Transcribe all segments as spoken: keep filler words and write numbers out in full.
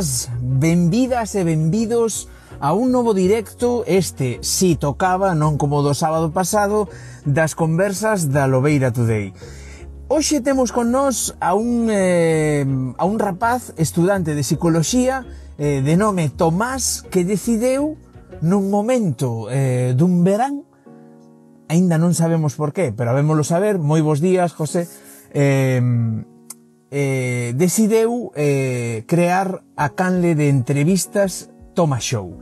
benvidas, benvidas e benvidos a un novo directo, este si tocaba, non como do sábado pasado, das conversas da Lobeira Today. Hoxe temos con nós a un, eh, a un rapaz estudante de psicoloxía eh, de nome Tomás, que decideu nun momento eh, dun verán, aínda non sabemos por qué, pero habémolo saber. Moi bons días, José. Eh, eh, decideu eh, crear a canle de entrevistas Toma Show.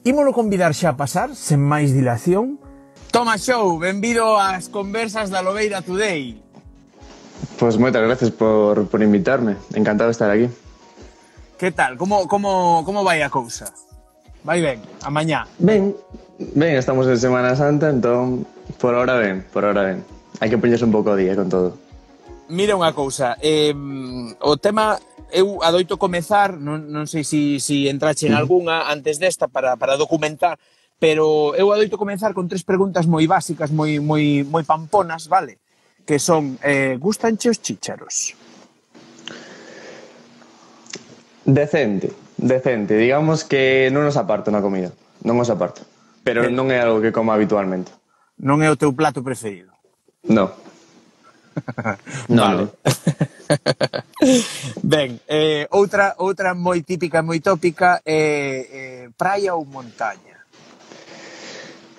Ímolo convidar xa a pasar, sen máis dilación. Toma Show, benvido ás conversas da Lobeira Today. Pois moitas gracias por, por invitarme, encantado de estar aquí. Que tal? Como, como, como vai a cousa? Vai ben, a mañá? Ben, ben, estamos en Semana Santa, entón, por ahora ben, por ahora ben. Hai que poñerse un pouco a día con todo. Mira unha cousa, eh, o tema, eu adoito comezar, non, non sei se si, si entrache en algunha antes desta para, para documentar, pero eu adoito comezar con tres preguntas moi básicas, moi, moi, moi pamponas, vale? Que son, eh, gustanche os chícharos? Decente, decente, digamos que non os aparto na comida, non os aparto, pero Eh. non é algo que como habitualmente. Non é o teu plato preferido? No. No, Vale. no. Ben, eh, outra, outra moi típica, moi tópica é eh, praia ou montaña?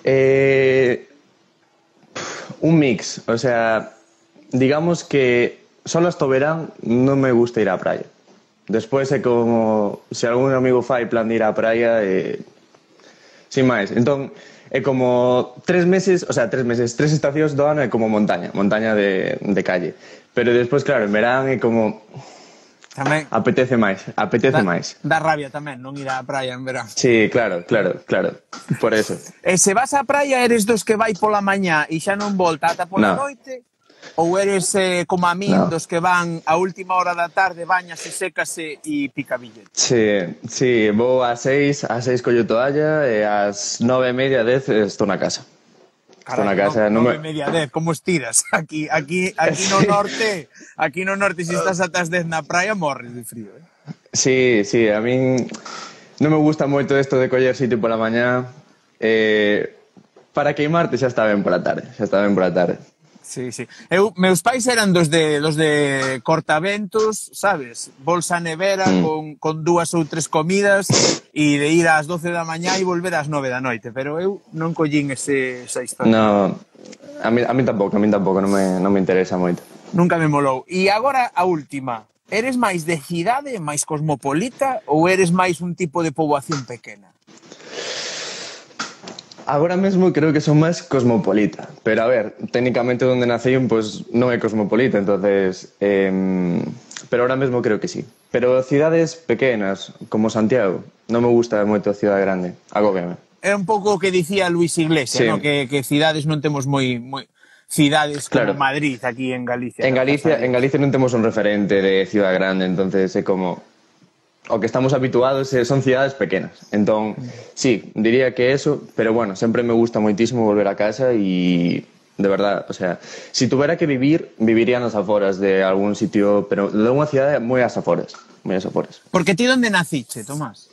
Eh, un mix, o sea, digamos que solo hasta o verán non me gusta ir á praia. Despois é como se algún amigo fai plan de ir á praia, eh, sin máis. Entón, é como tres meses, o sea, tres meses, tres estacións do ano é como montaña, montaña de, de calle. Pero despois, claro, en verán é como... Tamén. Apetece máis, apetece Da, máis. dá rabia tamén non ir á praia en verán. Sí, claro, claro, claro, por eso. E se vas á praia eres dos que vai pola mañá e xa non volta ata pola No. noite? Ou eres eh, como a min, No. dos que van a última hora da tarde, bañase, sécase e pica billete? Sí, sí, vou ás seis, ás seis collo toalla e ás nove e media, dez estou na casa. Estou na casa, non nove me... e media, dez, como estiras? Aquí, aquí, aquí no norte, aquí no norte, se estás ata as dez na praia, morres de frío, eh? Sí, sí, a min non me gusta moito isto de coller sitio pola mañá. Eh, para queimarte xa está ben pola tarde, xa está ben pola tarde. Sí, sí. Eu, meus pais eran dos de los de cortaventos, sabes? Bolsa nevera mm. con, con dúas ou tres comidas e de ir ás doce da mañá e volver ás nove da noite, pero eu non collín ese, esa historia. No, a mí, a mí tampouco, a mí tampouco, non me, non me interesa moito. Nunca me molou. E agora a última, eres máis de cidade, máis cosmopolita ou eres máis un tipo de poboación pequena? Agora mesmo creo que son máis cosmopolita, pero a ver, técnicamente onde nacein pues, non é cosmopolita, entonces eh, pero ahora mesmo creo que sí. Pero cidades pequenas, como Santiago, non me gusta moito a cidade grande, agóbiame. É un pouco o que dicía Luis Iglesias, Sí. ¿no? que, que cidades non temos moi, moi cidades como Claro. Madrid aquí en Galicia. En Galicia, en Galicia non temos un referente de cidade grande, entonces é como o que estamos habituados son cidades pequenas. Entón, sí, diría que eso, pero bueno, sempre me gusta moitísimo volver a casa e de verdad, o sea, si tuvera que vivir, viviría nas aforas de algún sitio, pero de unha cidade moi ás aforas, moi ás aforas. Porque ti onde naciche, Tomás?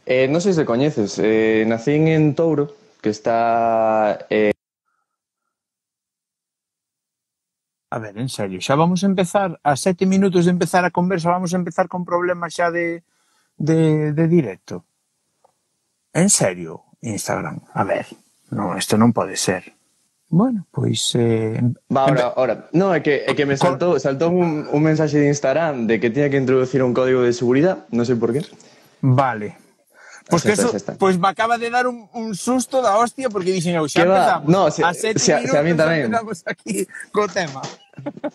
Eh, non sei se coñeces, eh, nacín en Touro, que está... Eh... A ver, en serio, xa vamos a empezar, a sete minutos de empezar a conversa, vamos a empezar con problemas xa de, de, de directo. En serio, Instagram, a ver, no, isto non pode ser. Bueno, pois... Eh, Va, ahora, ahora. No, é que, é que me saltou, saltou un, un mensaxe de Instagram de que tiña que introducir un código de seguridade, non sei por qué. Vale. Pois que Xa está, eso, xa está. pois me acaba de dar un, un susto da hostia porque dixen eu, xa Que va? empezamos. No, se- a sete se- minutos se a min tamén. empezamos aquí co tema.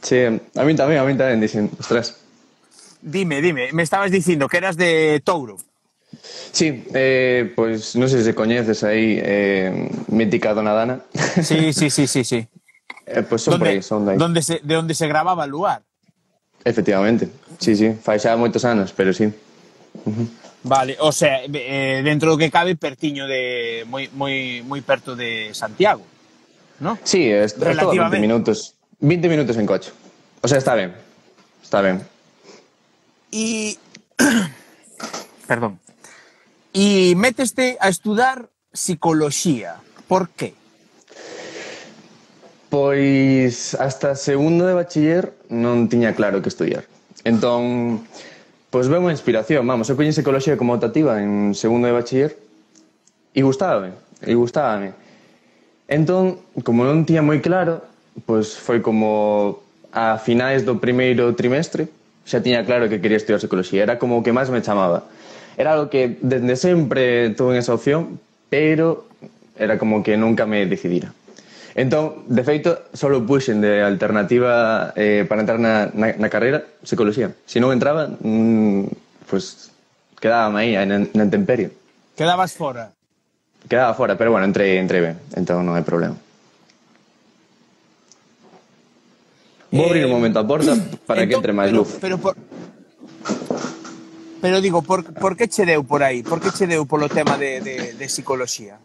Sí, a mí tamén, a mí tamén, dixen, ostras. Dime, dime, me estabas dicindo que eras de Touro. Sí, eh, pois non sei se coñeces aí eh, mítica Dona Dana. Sí, sí, sí, sí, sí. eh, pois son por aí, son de aí. donde se, de onde se grababa el lugar. Efectivamente, sí, sí, fai xa moitos anos, pero sí. Uh-huh. Vale, o sea, eh, dentro do que cabe pertiño de moi moi moi perto de Santiago, ¿no? Sí, es, es todo veinte minutos. veinte minutos en coche. O sea, está ben. Está ben. E perdón, e meteste a estudar psicoloxía. Por qué? Pois hasta segundo de bachiller non tiña claro que estudiar. Entón, pois veu unha inspiración, vamos, eu coñi psicoloxía como optativa en segundo de bachiller e gustábame, e gustábame. Entón, como non tiña moi claro, pois foi como a finais do primeiro trimestre xa tiña claro que quería estudiar psicoloxía, era como o que máis me chamaba. Era algo que desde sempre tuve esa opción, pero era como que nunca me decidira. Entón, de feito, solo puxen de alternativa eh, para entrar na, na, na carreira psicología. Se non entraba, mmm, pues quedábame aí, na, na intemperie. Quedabas fora? Quedaba fora, pero bueno, entrei, entrei ben, entón non hai problema. Vou eh, abrir un momento a porta para entón, que entre máis luz. Pero, por... pero digo, por, por que che deu por aí? Por que che deu polo tema de, de, de psicoloxía?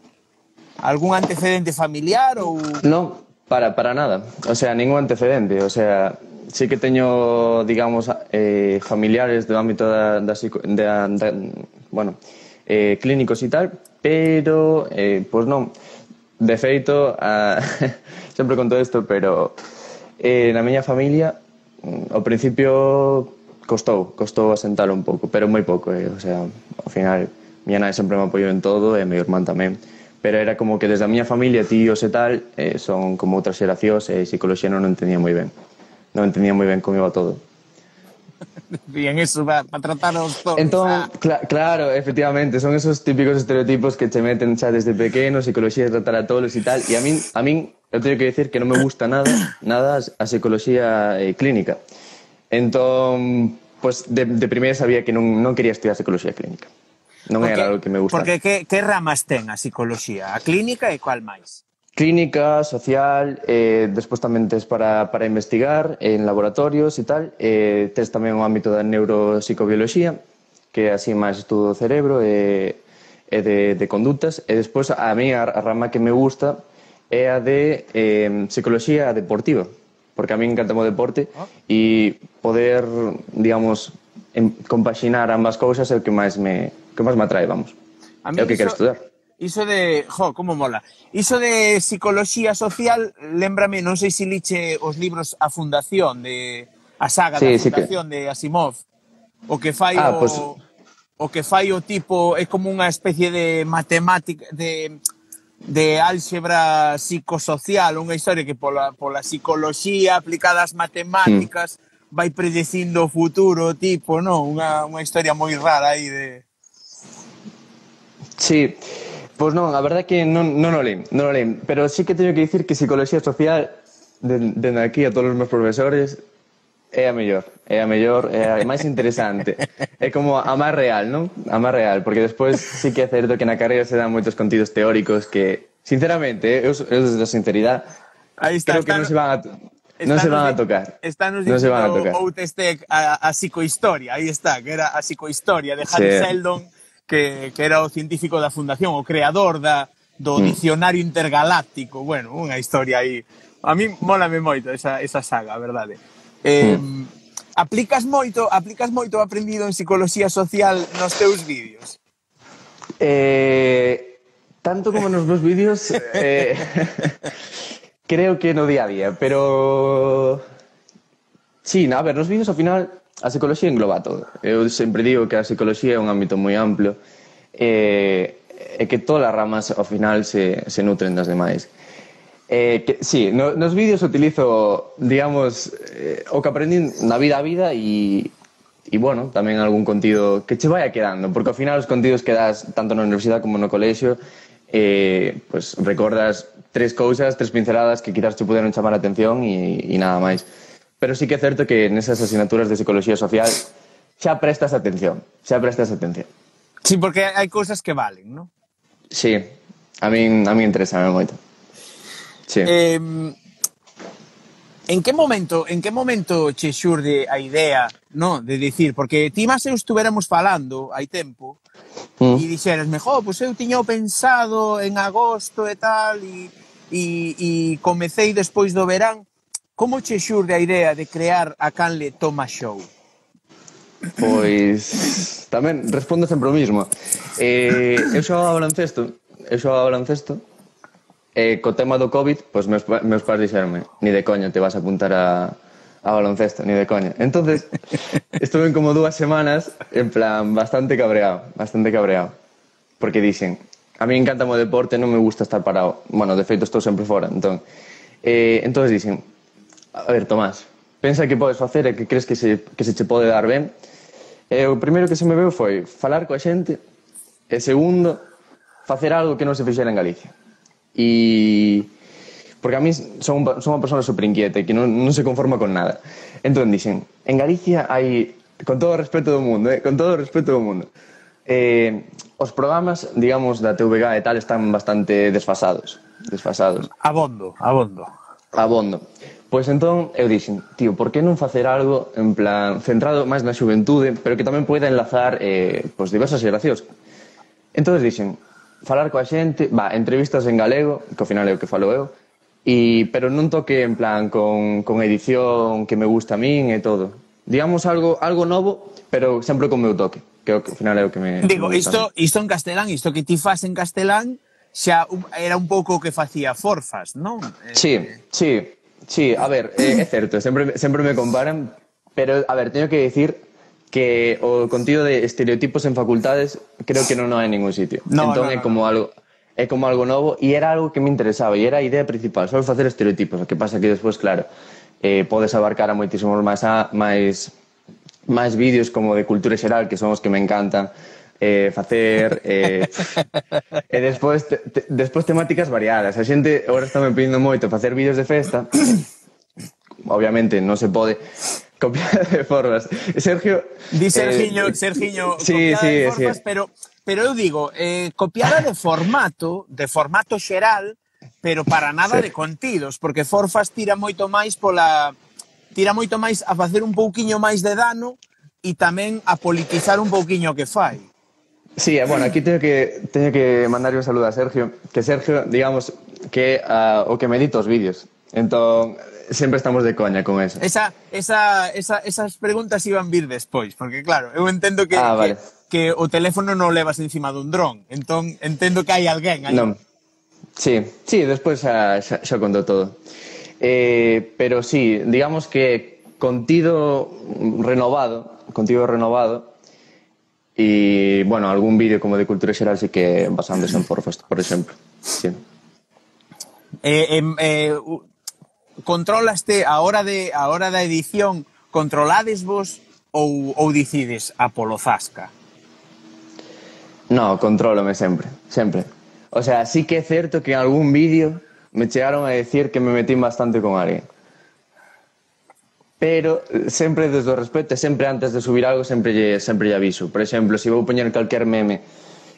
Algún antecedente familiar ou...? Non, para, para nada. O sea, ningún antecedente. O sea, sí que teño, digamos, eh, familiares do ámbito da, da, da, da bueno, eh, clínicos e tal, pero, eh, pois non. De feito, a... sempre conto isto, pero eh, na miña familia, ao principio costou, costou asentalo un pouco, pero moi pouco, eh. O sea, ao final, miña nai sempre me apoiou en todo e meu irmán tamén. Pero era como que desde a miña familia, tíos e tal, eh, son como outras xeracións e psicoloxía non entendía moi ben. Non entendía moi ben como iba todo. Bien, eso va para tratar os todos. Entón, ah. cl claro, efectivamente, son esos típicos estereotipos que che meten xa desde pequeno, psicoloxía de tratar a todos e tal, e a min, a min, eu teño que decir que non me gusta nada, nada a psicoloxía eh, clínica. Entón, pues de, de primeira sabía que non, non quería estudiar psicoloxía clínica. Non porque, era algo que me gustaba. Porque que, que ramas ten a psicoloxía? A clínica e cual máis? Clínica, social, eh, despois tamén tes para, para investigar en laboratorios e tal, eh, tes tamén o ámbito da neuropsicobioloxía, que é así máis estudo do cerebro e, e de, de conductas, e despois a mí a, a rama que me gusta é a de eh, psicoloxía deportiva, porque a mí encanta o deporte e poder, digamos, en, compaxinar ambas cousas é o que máis me... que máis me atrae, vamos. É o que quero estudar. Iso de... Jo, como mola. Iso de psicoloxía social, lémbrame, non sei se liche os libros A Fundación, de a saga sí, da Fundación sí que... de Asimov. O que fai ah, o... Pues... O que fai o tipo... É como unha especie de matemática... de, de álxebra psicosocial, unha historia que pola, pola psicoloxía aplicada ás matemáticas mm. vai predecindo o futuro, tipo, non? Unha, unha historia moi rara aí de... Sí, pois non, a verdade é que non, non o leim, non o leim, pero sí que teño que dicir que psicología social, dende aquí a todos os meus profesores, é a mellor, é a mellor, é a máis interesante, é como a máis real, non? A máis real, porque despois sí que é certo que na carreira se dan moitos contidos teóricos que, sinceramente, eu, eu desde a sinceridade, creo que non se van a... Non se van a tocar. Estános dicindo Outestec a, a psicohistoria, aí está, que era a psicohistoria de Hans sí. Seldon, que, que era o científico da fundación, o creador da, do mm. dicionario intergaláctico. Bueno, unha historia aí. A mí mólame moito esa, esa saga, a verdade. Eh, mm. Aplicas moito, aplicas moito o aprendido en psicoloxía social nos teus vídeos? Eh, tanto como nos meus vídeos, eh, creo que no día a día, pero... Sí, a ver, nos vídeos ao final... A psicoloxía engloba todo. Eu sempre digo que a psicoloxía é un ámbito moi amplio e, e que todas as ramas ao final se, se nutren das demais. Eh, que, sí, no, nos vídeos utilizo, digamos, eh, o que aprendí na vida a vida e, e, bueno, tamén algún contido que che vaya quedando, porque ao final os contidos que das tanto na universidade como no colexio eh, pues, recordas tres cousas, tres pinceladas que quizás te puderon chamar a atención e, e nada máis. Pero sí que é certo que nesas asignaturas de psicología social xa prestas atención, xa prestas atención. Sí, porque hai cousas que valen, non? Sí, a min, a min interesa moito. Sí. Eh, en que momento, en que momento che xurde a idea, no, de dicir, porque ti máis eu estuveramos falando hai tempo, mm. e dixeras, jo, pois eu tiño pensado en agosto e tal, e, e, e comecei despois do verán. Como che xurde a idea de crear a Canle Toma Show? Pois tamén respondo sempre o mismo. Eh, eu xogaba baloncesto, eu xogaba baloncesto, e co tema do COVID, pois meus, meus pais dixeronme, ni de coña te vas a apuntar a, a baloncesto, ni de coña. Entonces, estuve como dúas semanas en plan bastante cabreado, bastante cabreado. Porque dixen, a mí encanta o deporte, non me gusta estar parado. Bueno, de feito estou sempre fora, entón. Eh, entonces dixen, a ver, Tomás, pensa que podes facer e que crees que se, que se che pode dar ben. E o primeiro que se me veu foi falar coa xente e segundo, facer algo que non se fixera en Galicia. E porque a mí son, son unha persona super inquieta e que non, non se conforma con nada. Entón dixen, en Galicia hai, con todo o respeto do mundo, eh, con todo o respeto do mundo, eh, os programas, digamos, da T V G e tal están bastante desfasados. Desfasados. Abondo, abondo. Abondo. Pois entón eu dixen, tío, por que non facer algo en plan centrado máis na xuventude, pero que tamén poida enlazar eh, pois diversas xeracións. Entón dixen, falar coa xente, va, entrevistas en galego, que ao final é o que falo eu, e, pero non toque en plan con, con edición que me gusta a min e todo. Digamos algo algo novo, pero sempre con meu toque, que ao final é o que me Digo, me gusta. isto, isto en castelán, isto que ti fas en castelán, xa era un pouco o que facía Forfas, non? Sí, sí. Sí, a ver, eh, é certo, sempre, sempre me comparan, pero, a ver, teño que decir que o contido de estereotipos en facultades creo que non hai en ningún sitio. No, entón no, é no, como no. algo é como algo novo e era algo que me interesaba e era a idea principal, só facer estereotipos, o que pasa que despois, claro, eh, podes abarcar a moitísimos máis a, máis máis vídeos como de cultura xeral, que son os que me encantan, eh, facer eh, e despois te, te, despois temáticas variadas. A xente agora está me pedindo moito facer vídeos de festa. Obviamente non se pode copiar de formas. Sergio Di Sergiño, eh, Sergiño sí, copiada sí, de Forfas, sí. pero pero eu digo, eh, copiada de formato, de formato xeral, pero para nada Sí. de contidos, porque Forfas tira moito máis pola tira moito máis a facer un pouquiño máis de dano e tamén a politizar un pouquiño o que fai. Sí, bueno, aquí teño que teño que mandarlle un saludo a Sergio, que Sergio, digamos, que uh, o que me edita os vídeos. Entón, sempre estamos de coña con eso. Esa, esa, esa, esas preguntas iban vir despois, porque claro, eu entendo que, Ah, vale. que, que o teléfono non levas encima dun dron, entón entendo que hai alguén aí. Non. Sí, sí, despois xa, xa, xa contou todo. Eh, pero sí, digamos que contido renovado, contido renovado, e, bueno, algún vídeo como de cultura xeral sí que basándose en Forfas, por exemplo. Sí. Eh, eh, eh, controlaste a hora de a hora da edición, controlades vos ou, ou decides a polo zasca? No, contrólome sempre, sempre. O sea, sí que é certo que en algún vídeo me chegaron a decir que me metín bastante con alguén. Pero sempre desde o respeto, sempre antes de subir algo, sempre lle, sempre lle aviso. Por exemplo, se vou poñer calquer meme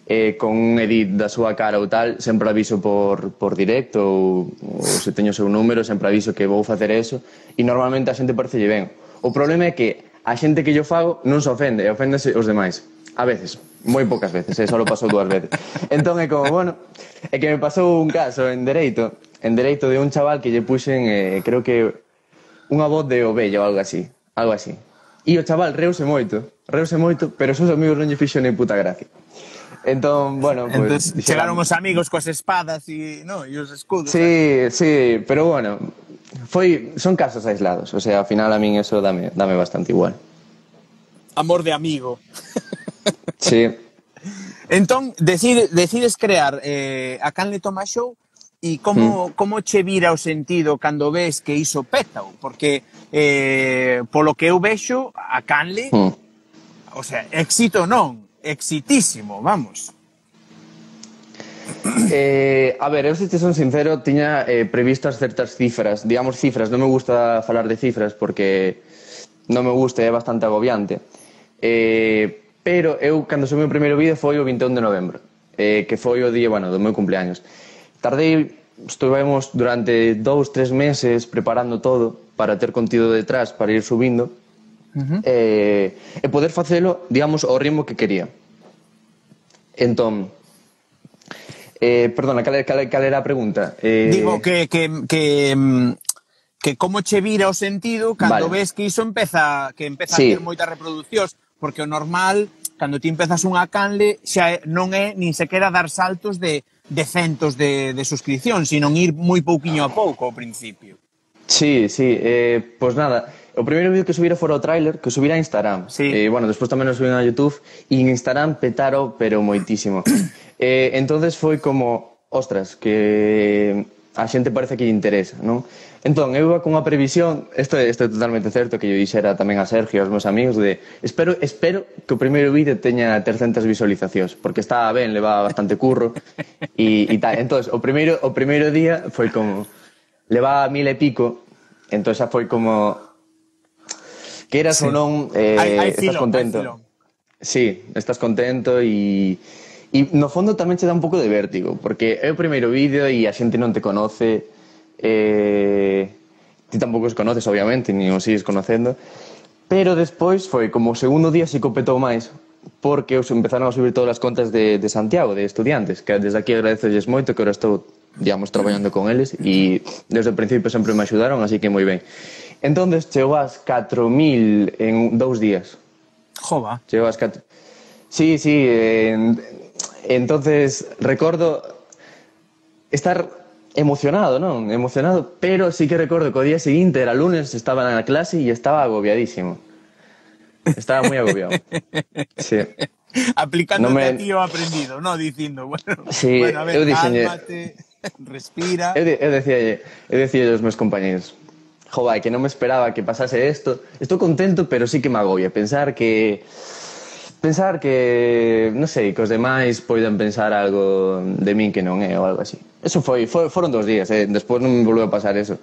eh, con un edit da súa cara ou tal, sempre aviso por, por directo ou, ou se teño o seu número, sempre aviso que vou facer eso e normalmente a xente parecelle ben. O problema é que a xente que yo fago non se ofende, e oféndese os demais. A veces, moi poucas veces, eh, só pasou dúas veces. Entón é como, bueno, é que me pasou un caso en Dereito, en Dereito de un chaval que lle puxen, eh, creo que unha voz de ovella ou algo así, algo así. E o chaval reuse moito, reuse moito, pero os seus amigos non lle fixo nem puta gracia. Entón, bueno, pues... Entón, chegaron os amigos coas espadas e, no, e os escudos. Sí, ¿sabes? Sí, pero bueno, foi, son casos aislados, o sea, ao final a min eso dame, dame bastante igual. Amor de amigo. Sí. Entón, decide, decides crear eh, a Canle Toma Show e como, mm. como che vira o sentido cando ves que iso pétao? Porque, eh, polo que eu vexo, a Canle, mm. o sea, éxito non, exitísimo, vamos. Eh, a ver, eu se te son sincero, tiña eh, previstas certas cifras, digamos cifras, non me gusta falar de cifras porque non me gusta, é bastante agobiante. Eh, pero eu, cando subí o primeiro vídeo, foi o vinte e un de novembro, eh, que foi o día, bueno, do meu cumpleaños. Tardei, estuvemos durante dous, tres meses preparando todo para ter contido detrás, para ir subindo, uh-huh. eh, e poder facelo, digamos, ao ritmo que quería. Entón, eh, perdona, cal, cal, cal era a pregunta? Eh... Digo que, que, que, que como che vira o sentido cando vale. ves que iso empeza, que empeza sí. a ter moitas reproduccións, porque o normal, cando ti empezas unha canle, xa non é nin sequera dar saltos de, de centos de, de suscripción, sino ir moi pouquiño a pouco ao principio. Sí, sí, eh, pois nada, o primeiro vídeo que subira fora o tráiler, que subira a Instagram. Sí. Eh, bueno, despois tamén o subín a YouTube, e en Instagram petaro, pero moitísimo. eh, entonces foi como, ostras, que a xente parece que lle interesa, non? Entón, eu iba con unha previsión, isto é, isto é totalmente certo, que yo dixera tamén a Sergio e aos meus amigos, de espero, espero que o primeiro vídeo teña trescentas visualizacións, porque estaba ben, levaba bastante curro, e, e tal. Entón, o primeiro, o primeiro día foi como, levaba mil e pico, entón xa foi como, que eras sí. ou non, eh, hay, hay estás filón, contento. Sí, estás contento e... E no fondo tamén che dá un pouco de vértigo, porque é o primeiro vídeo e a xente non te conoce, eh, ti tampouco os conoces, obviamente, ni os sigues conocendo, pero despois foi como o segundo día si copetou máis, porque os empezaron a subir todas as contas de, de Santiago, de estudiantes, que desde aquí agradecelles moito, que ahora estou, digamos, traballando con eles, e desde o principio sempre me axudaron, así que moi ben. Entón, chegou ás catro mil en dous días. Jova. Chegou ás catro... Sí, sí, eh, entonces recordo estar emocionado, non? Emocionado, pero sí que recordo que o día seguinte era lunes, estaba na clase e estaba agobiadísimo. Estaba moi agobiado. Sí. Aplicándote no me... a ti o aprendido, ¿no? Dicindo, bueno, sí, bueno a ver, eu diseñe... cálmate, respira... Eu, eu decía, eu decía aos meus compañeros, jova, que non me esperaba que pasase isto. Estou contento, pero sí que me agobia pensar que... Pensar que, non sei, que os demais poidan pensar algo de min que non é ou algo así. Eso foi, foi foron dos días, eh? Despois non me volveu a pasar eso.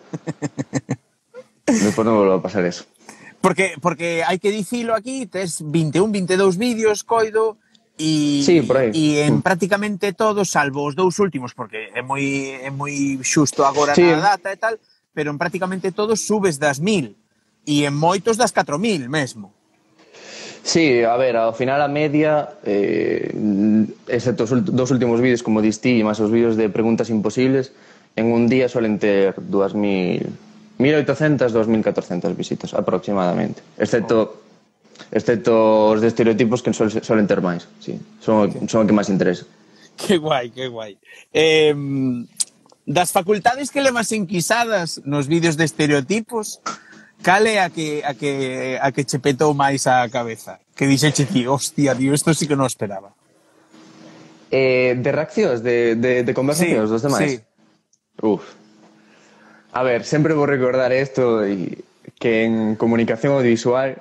Despois non me volveu a pasar eso. Porque, porque hai que dicilo aquí, tes vinte e un, vinte e dous vídeos, coido, e, sí, por aí. E en prácticamente todos, salvo os dous últimos, porque é moi, é moi xusto agora sí. na data e tal, pero en prácticamente todos subes das mil, e en moitos das catro mil mesmo. Sí, a ver, ao final a media, eh, excepto os dos últimos vídeos como distí e máis os vídeos de preguntas imposibles, en un día suelen ter dúas mil, mil oitocentas, dúas mil catorcentas visitas aproximadamente, excepto excepto os de estereotipos que suelen ter máis, sí, son, son o que máis interesa. Que guai, que guai. Eh, das facultades que levas enquisadas nos vídeos de estereotipos, cal é a que, a que, a que che petou máis a cabeza? Que dixeche ti, hostia, tío, isto sí que non esperaba. Eh, de reaccións, de, de, de conversacións sí, dos demais? Sí. Uf. A ver, sempre vou recordar isto, e que en comunicación audiovisual,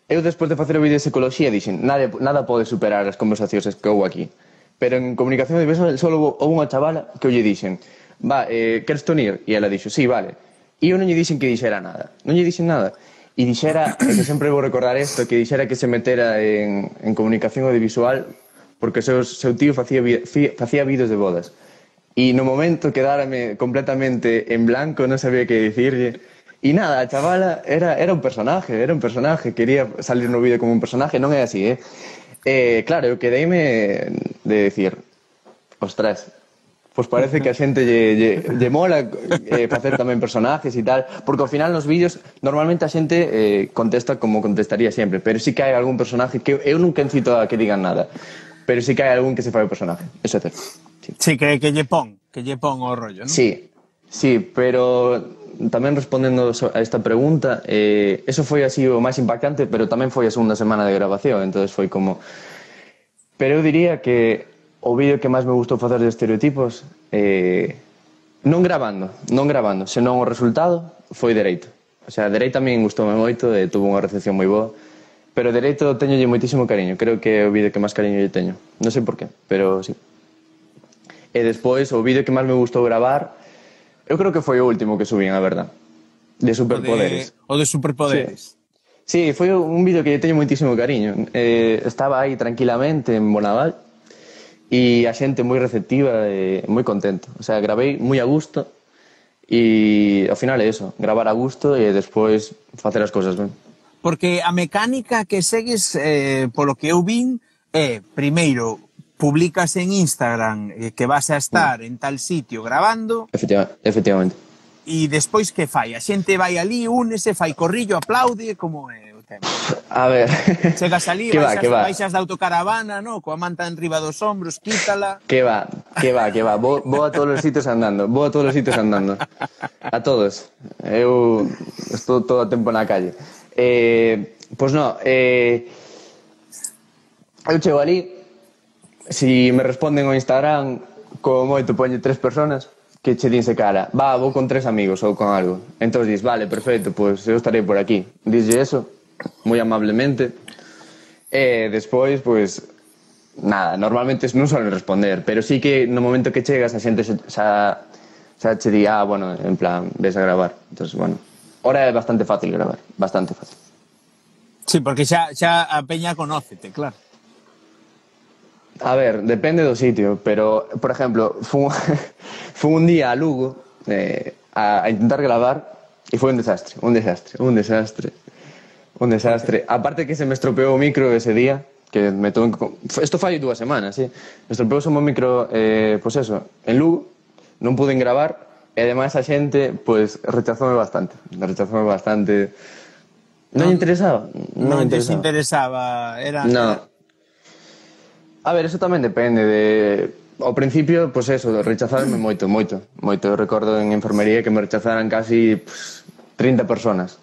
eu despois de facer o vídeo de psicología dixen, nada, nada pode superar as conversacións que houve aquí. Pero en comunicación audiovisual só houve unha chavala que eu lle dixen, va, eh, queres te unir? E ela dixo, sí, vale. E eu non lle dixen que dixera nada. Non lle dixen nada. E dixera, e que sempre vou recordar isto, que dixera que se metera en, en comunicación audiovisual porque seu, seu tío facía, facía vídeos de bodas. E no momento quedárame completamente en blanco, non sabía que dicirlle. E nada, a chavala era, era un personaje, era un personaje. Quería salir no vídeo como un personaje, non é así, eh? eh claro, eu quedeime de decir, ostras, pois parece que a xente lle, lle, lle mola eh, facer tamén personajes e tal, porque ao final nos vídeos normalmente a xente eh, contesta como contestaría sempre, pero sí que hai algún personaje que eu nunca incito a que digan nada, pero sí que hai algún que se fai o personaje, eso é certo. Sí, sí que, que lle pon, que lle pon o rollo, non? Sí, sí, pero tamén respondendo a esta pregunta, eh, eso foi así o máis impactante, pero tamén foi a segunda semana de grabación, entonces foi como... Pero eu diría que o vídeo que máis me gustou facer de estereotipos, eh, non grabando, non grabando, senón o resultado foi Dereito. O sea, Dereito a min gustoume moito e tuvo unha recepción moi boa, pero Dereito teñolle moitísimo cariño, creo que é o vídeo que máis cariño lle teño. Non sei por qué, pero sí. E despois, o vídeo que máis me gustou gravar, eu creo que foi o último que subín, a verdad, de superpoderes. O de, o de superpoderes. Sí, sí, foi un vídeo que lle teño moitísimo cariño. Eh, estaba aí tranquilamente en Bonaval, e a xente moi receptiva e moi contento. O sea, gravei moi a gusto e ao final é eso, gravar a gusto e despois facer as cousas ben. Porque a mecánica que segues, eh, polo que eu vin, é, primeiro, publicas en Instagram eh, que vas a estar mm. en tal sitio grabando. Efectiva, efectivamente. E despois que fai? A xente vai ali, únese, fai corrillo, aplaude, como é? tempo? A ver... Chegas ali, que va, baixas, que va. baixas da autocaravana, no? Coa manta enriba dos hombros, quítala... Que va, que va, que va. Vou, vou a todos os sitios andando. Vou a todos os sitios andando. A todos. Eu estou todo o tempo na calle. Eh, pois no, eh, eu chego ali, si me responden ao Instagram, como moito poñe tres personas, que che dinse cara, va, vou con tres amigos ou con algo. Entón dis, vale, perfecto, pois eu estarei por aquí. Dislle eso, moi amablemente. E despois, pois, nada, normalmente non suelen responder, pero sí que no momento que chegas a xente xa, xa che di, ah, bueno, en plan, ves a gravar. Entón, bueno, ahora é bastante fácil gravar, bastante fácil. Sí, porque xa, xa a peña conócete, claro. A ver, depende do sitio, pero, por exemplo, fun, fun un día a Lugo eh, a, a intentar gravar e foi un desastre, un desastre, un desastre, un desastre. Aparte que se me estropeou o micro ese día, que me tuve que... Esto fai dúas semanas, sí. Me estropeou o micro, eh, pois pues eso, en Lugo, non pude gravar, e ademais a xente, pois, pues, rechazoume bastante, rechazoume bastante. Non, non lle interesaba? Non, non lle interesaba, era... No. Era... A ver, eso tamén depende de... Ao principio, pois pues eso, rechazaronme moito, moito, moito. Eu recordo en enfermería que me rechazaran casi pues, trinta personas.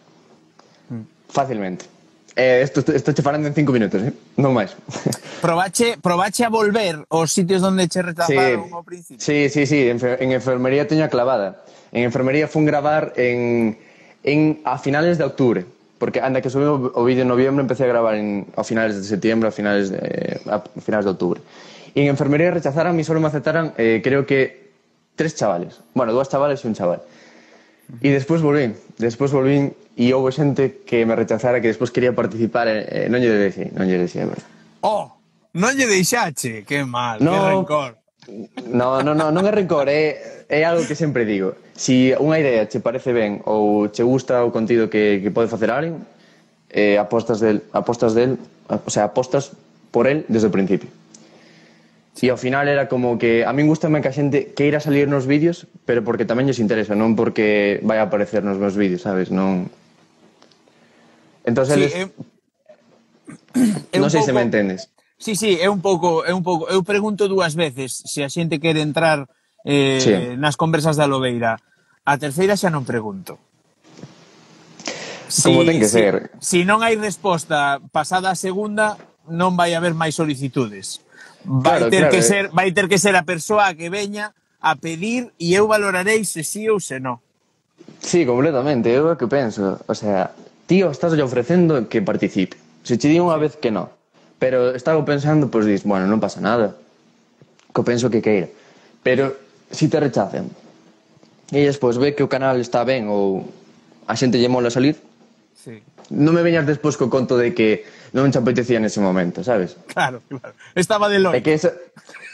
Mm. Fácilmente. Eh, esto, esto che falando en cinco minutos, eh? Non máis. Probache, probache a volver aos sitios onde che rechazaron sí, ao principio? Sí, sí, sí, en, en enfermería teño a clavada. En enfermería fun gravar en, en, a finales de octubre. Porque anda que subiu o vídeo en noviembre, empecé a gravar en, a finales de septiembre, a finales de, a finales de octubre. Y en enfermería rechazaran, y solo me aceptaran, eh, creo que, tres chavales. Bueno, dos chavales y un chaval. Y despois volvín, despois volvín, e houve xente que me rechazara, que despois quería participar, eh, non lle deixei, non lle deixei, verdad. Oh, non lle deixache, que mal, no, que rencor. No, no, no, non é rencor, é, é algo que sempre digo. Si unha idea che parece ben ou che gusta o contido que, que pode facer alguén, eh, apostas del, apostas del, o sea, apostas por el desde o principio. E ao final era como que a min gustame que a xente queira salir nos vídeos, pero porque tamén lles interesa, non porque vai a aparecer nos meus vídeos, sabes? Non. Entón, sí, eles... é... non sei pouco... se me entendes. Sí, sí, é un pouco, é un pouco, eu pregunto dúas veces se a xente quere entrar eh, sí. nas conversas da Lobeira. A terceira xa non pregunto. Como si, ten que si, ser. Si non hai resposta pasada a segunda, non vai haber máis solicitudes. Vai claro, ter claro, que eh. ser, vai ter que ser a persoa que veña a pedir e eu valorarei se sí ou se non. Sí, completamente, eu é que penso, o sea, tío, estás ofrecendo que participe. Se che di unha vez que non, pero estaba pensando, pois dis, bueno, non pasa nada, que penso que queira. Pero si te rechacen e despois ve que o canal está ben ou a xente lle mola salir, sí. Non me veñas despois co conto de que non te apetecía nese momento, sabes? Claro, claro. Estaba de loito. É que eso,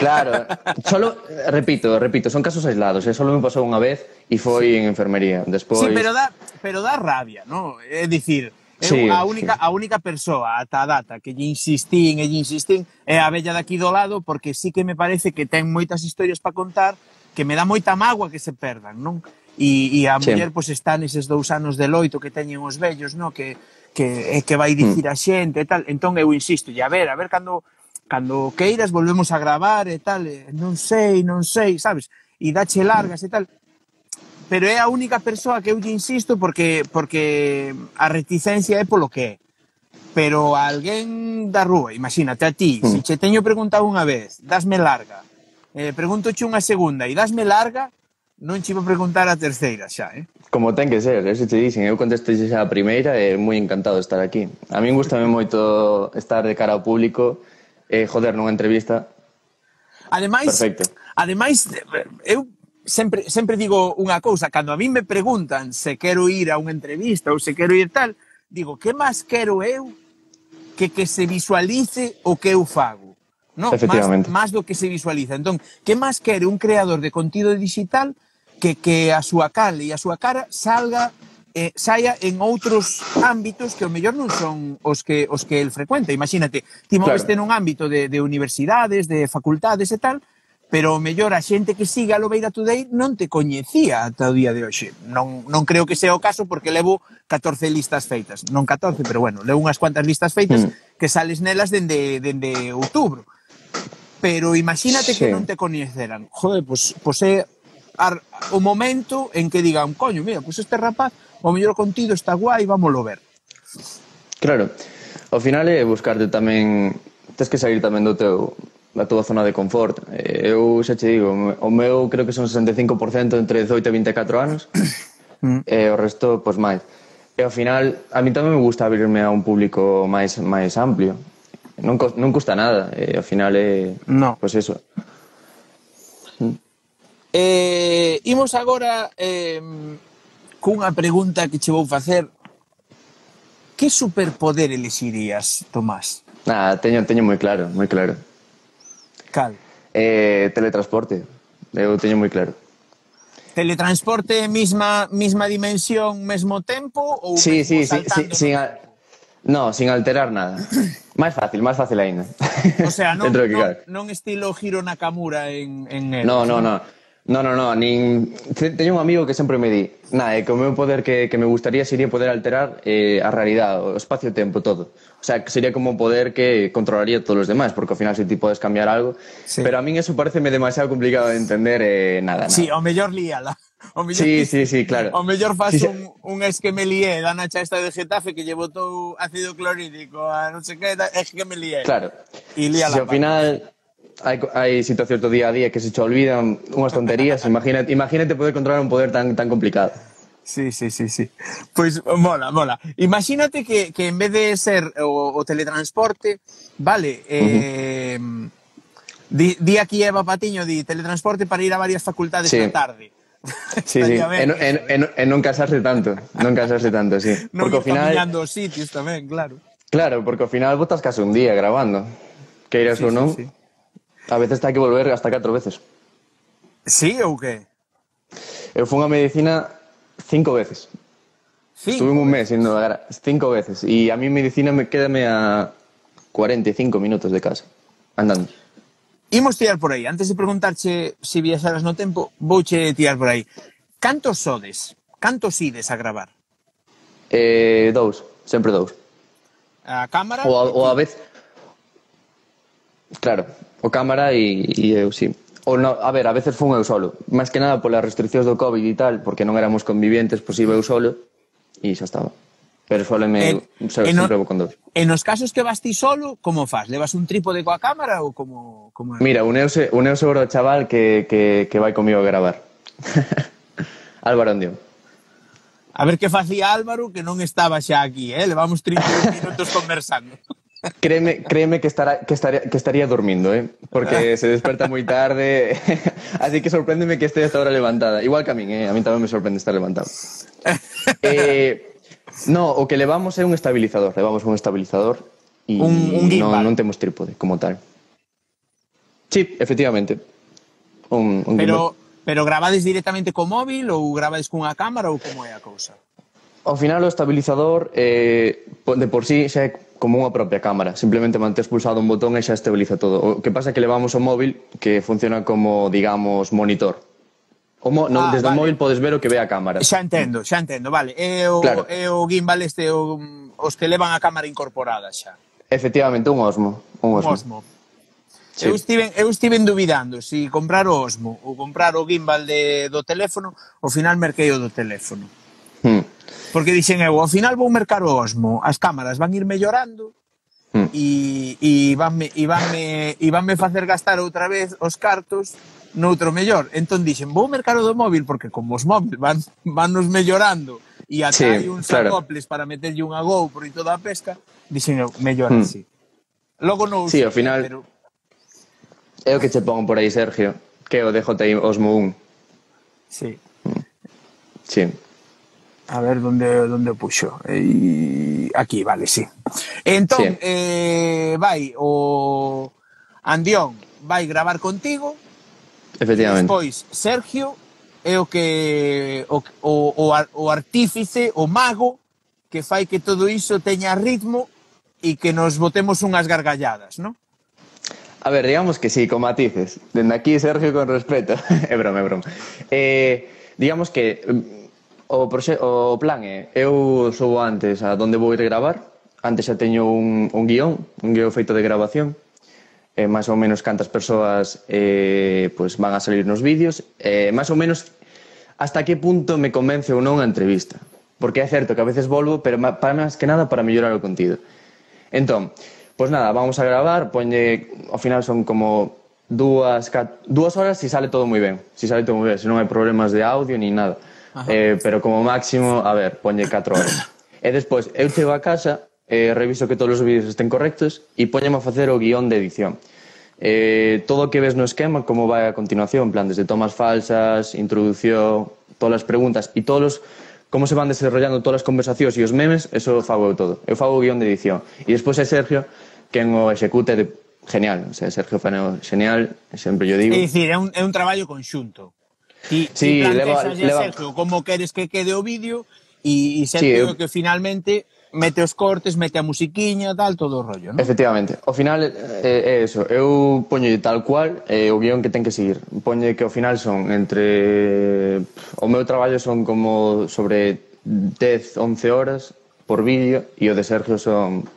claro, solo, repito, repito, son casos aislados, eh? Solo me pasou unha vez e foi sí. en enfermería. Despois... Sí, pero dá, pero dá rabia, ¿no? É dicir, sí, a única, sí. a única persoa ata a data que lle insistín e lle insistín é a vella daqui do lado, porque sí que me parece que ten moitas historias para contar que me dá moita mágoa que se perdan, non? E, e a sí. muller pois, está neses dous anos de loito que teñen os vellos, non? Que, que, que vai dicir mm. a xente e tal. Entón eu insisto, e a ver, a ver cando, cando queiras volvemos a gravar e tal, e non sei, non sei, sabes? E dache largas e tal. Pero é a única persoa que eu lle insisto porque, porque a reticencia é polo que é. Pero a alguén da rúa, imagínate a ti, mm. se che teño preguntado unha vez, dasme larga, eh, preguntoche unha segunda e dasme larga, non che vou preguntar a terceira xa, eh? Como ten que ser, eso te dicen, eu contestei xa a primeira e moi encantado de estar aquí. A min gustame moito estar de cara ao público e, joder, nunha entrevista. Ademais, perfecto. Ademais, eu sempre, sempre digo unha cousa, cando a min me preguntan se quero ir a unha entrevista ou se quero ir tal, digo, que máis quero eu que que se visualice o que eu fago? No, efectivamente. Más, más do que se visualiza. Entón, que máis quere un creador de contido digital que, que a súa cal e a súa cara salga, eh, saia en outros ámbitos que ao mellor non son os que os que el frecuenta. Imagínate, ti moveste claro. nun ámbito de, de universidades, de facultades e tal, pero o mellor a xente que siga a Lobeira Today non te coñecía ata o día de hoxe. Non, non creo que sea o caso porque levo catorce listas feitas. Non catorce, pero bueno, levo unhas cuantas listas feitas mm. que sales nelas dende, dende outubro. Pero imagínate sí. que non te coñeceran. Joder, pois, pois é ar, o momento en que digan, coño, mira, pois este rapaz, o mellor contido está guai, vámoslo ver. Claro, ao final é buscarte tamén, tens que sair tamén do teu, da tua zona de confort. Eu xa che digo, o meu creo que son sesenta e cinco por cento entre dezoito e vinte e catro anos, mm. e o resto, pois máis. E ao final, a mí tamén me gusta abrirme a un público máis máis amplio. Non, non custa nada, e ao final é... No. Pois eso. Eh, imos agora eh, cunha pregunta que che vou facer. Que superpoder elexirías, Tomás? Ah, teño, teño moi claro, moi claro. Cal? Eh, teletransporte. Eu teño moi claro. Teletransporte, misma, misma dimensión, mesmo tempo? Ou sí, sí, sí, sí, no? sin, a... no, sin alterar nada. Máis fácil, máis fácil aínda. O sea, non, non, non estilo Hiro Nakamura en, en Eros. No, no, no. No, no, no, nin... Teño un amigo que sempre me di, nada, que o meu poder que, que me gustaría sería poder alterar eh, a realidade, o espacio-tempo, todo. O sea, que sería como un poder que controlaría todos os demais, porque ao final se ti podes cambiar algo, sí. Pero a min eso pareceme demasiado complicado de entender, eh, nada, nada. Sí, ao mellor líala. O mellor, sí, sí, sí, claro. O mellor faz sí, un, un esqueme lié da nacha esta de Getafe que lle botou ácido clorhídrico a non sei que, esqueme lié. Claro. E líala. Si ao final hai, hai situacións do día a día que se che olvidan unhas tonterías, imagínate, imagínate poder controlar un poder tan, tan complicado. Sí, sí, sí, sí. Pois pues, mola, mola. Imagínate que, que en vez de ser o, o teletransporte, vale, eh, uh-huh. di, di aquí Eva Patiño, di teletransporte para ir a varias facultades sí. na tarde. Sí, sí, e non, en, en non cansarse tanto, non cansarse tanto, sí. Non ir caminando os sitios tamén, claro. Claro, porque ao final botas case un día grabando, que iras sí, ou non, sí, sí. A veces hai que volver hasta catro veces. Sí, ou que? Eu fui a medicina cinco veces. Cinco? Estuve un mes indo a cinco veces, e a mí medicina me quédame a cuarenta e cinco minutos de casa, andando. Imos tirar por aí. Antes de preguntarche se si viaxaras no tempo, vouche tirar por aí. Cantos sodes? Cantos ides a gravar? Eh, dous, sempre dous. A cámara? O a, o a vez... Claro, o cámara e, e eu, sí. O no, a ver, a veces fun eu solo. Máis que nada polas restriccións do COVID e tal, porque non éramos convivientes, pois iba eu solo e xa estaba. Pero soleme, sempre no, vou con dous. E nos casos que vas ti solo, como faz? Levas un trípode coa cámara ou como... como é? Mira, uneuse, uneuse o chaval que, que, que vai comigo a gravar. Álvaro Andión. A ver que facía Álvaro, que non estaba xa aquí, eh? Levamos trinta minutos conversando. Créeme, créeme que, estará, que, estaría, que estaría dormindo, eh? Porque se desperta moi tarde. Así que sorpréndeme que este esta hora levantada. Igual que a min, eh? A min tamén me sorprende estar levantado. Eh... No, o que levamos é un estabilizador. Levamos un estabilizador e un, un non, non temos trípode como tal. Sí, efectivamente. Un, un pero, pero gravades directamente co móvil ou gravades cunha cámara ou como é a cousa? Ao final o estabilizador eh, de por sí xa é como unha propia cámara. Simplemente mantes pulsado un botón e xa estabiliza todo. O que pasa é que levamos o móvil que funciona como, digamos, monitor. O mo, no, ah, desde vale. O móvil podes ver o que ve a cámara. Xa entendo, xa entendo, vale. É o, claro. É o gimbal este, o, os que levan a cámara incorporada xa. Efectivamente, un Osmo. Un Osmo. Un Osmo. Sí. Eu, estiven, eu estiven dubidando se si comprar o Osmo ou comprar o gimbal de, do teléfono, ao final merquei o do teléfono. Hmm. Porque dixen eu, ao final vou mercar o Osmo, as cámaras van ir mellorando hmm. e, e, vanme, e, vanme, e vanme facer gastar outra vez os cartos noutro mellor. Entón dixen, vou mercar o do móvil porque como os móviles van, van nos mellorando e ata sí, hai uns claro. Acoples para meterlle unha GoPro e toda a pesca, dixen eu, mellor hmm. así. Logo non sí, ao final pero... é o que che pon por aí, Sergio, que é o D J I Osmo un. Sí. Sí. A ver, donde, donde puxo? E... Aquí, vale, sí. Entón, sí. eh, vai o Andión vai gravar contigo. Efectivamente. Despois, Sergio é o que o, o, o artífice, o mago que fai que todo iso teña ritmo e que nos botemos unhas gargalladas, non? A ver, digamos que sí, con matices. Dende aquí, Sergio, con respeto. É broma, é broma. Eh, digamos que o, proxe o plan é, eu sou antes a donde vou ir gravar, antes xa teño un, un guión, un guión feito de grabación, eh, máis ou menos cantas persoas eh, pues van a salir nos vídeos, eh, máis ou menos hasta que punto me convence ou non a entrevista. Porque é certo que a veces volvo, pero para máis que nada para mellorar o contido. Entón, pois nada, vamos a gravar, poñe, ao final son como dúas, dúas horas si sale todo moi ben, si sale todo moi ben, se non hai problemas de audio ni nada. Eh, pero como máximo, a ver, poñe catro horas. E despois, eu chego a casa, eh, reviso que todos os vídeos estén correctos e poñeme a facer o guión de edición. Eh, todo o que ves no esquema, como vai a continuación, en plan, desde tomas falsas, introducción, todas as preguntas e todos os como se van desarrollando todas as conversacións e os memes, eso fago eu todo. Eu fago o guión de edición. E despois é Sergio quen o execute de genial. O sea, Sergio fano genial, sempre yo digo. É dicir, é un, é un traballo conxunto. Ti, sí, ti leva, leva... Sergio, como queres que quede o vídeo e, e Sergio sí, eu... que finalmente mete os cortes, mete a musiquiña, tal, todo o rollo, non? Efectivamente. Ao final é, é eso. Eu poño tal cual eh, o guión que ten que seguir. Poño que ao final son entre... O meu traballo son como sobre dez, once horas por vídeo e o de Sergio son...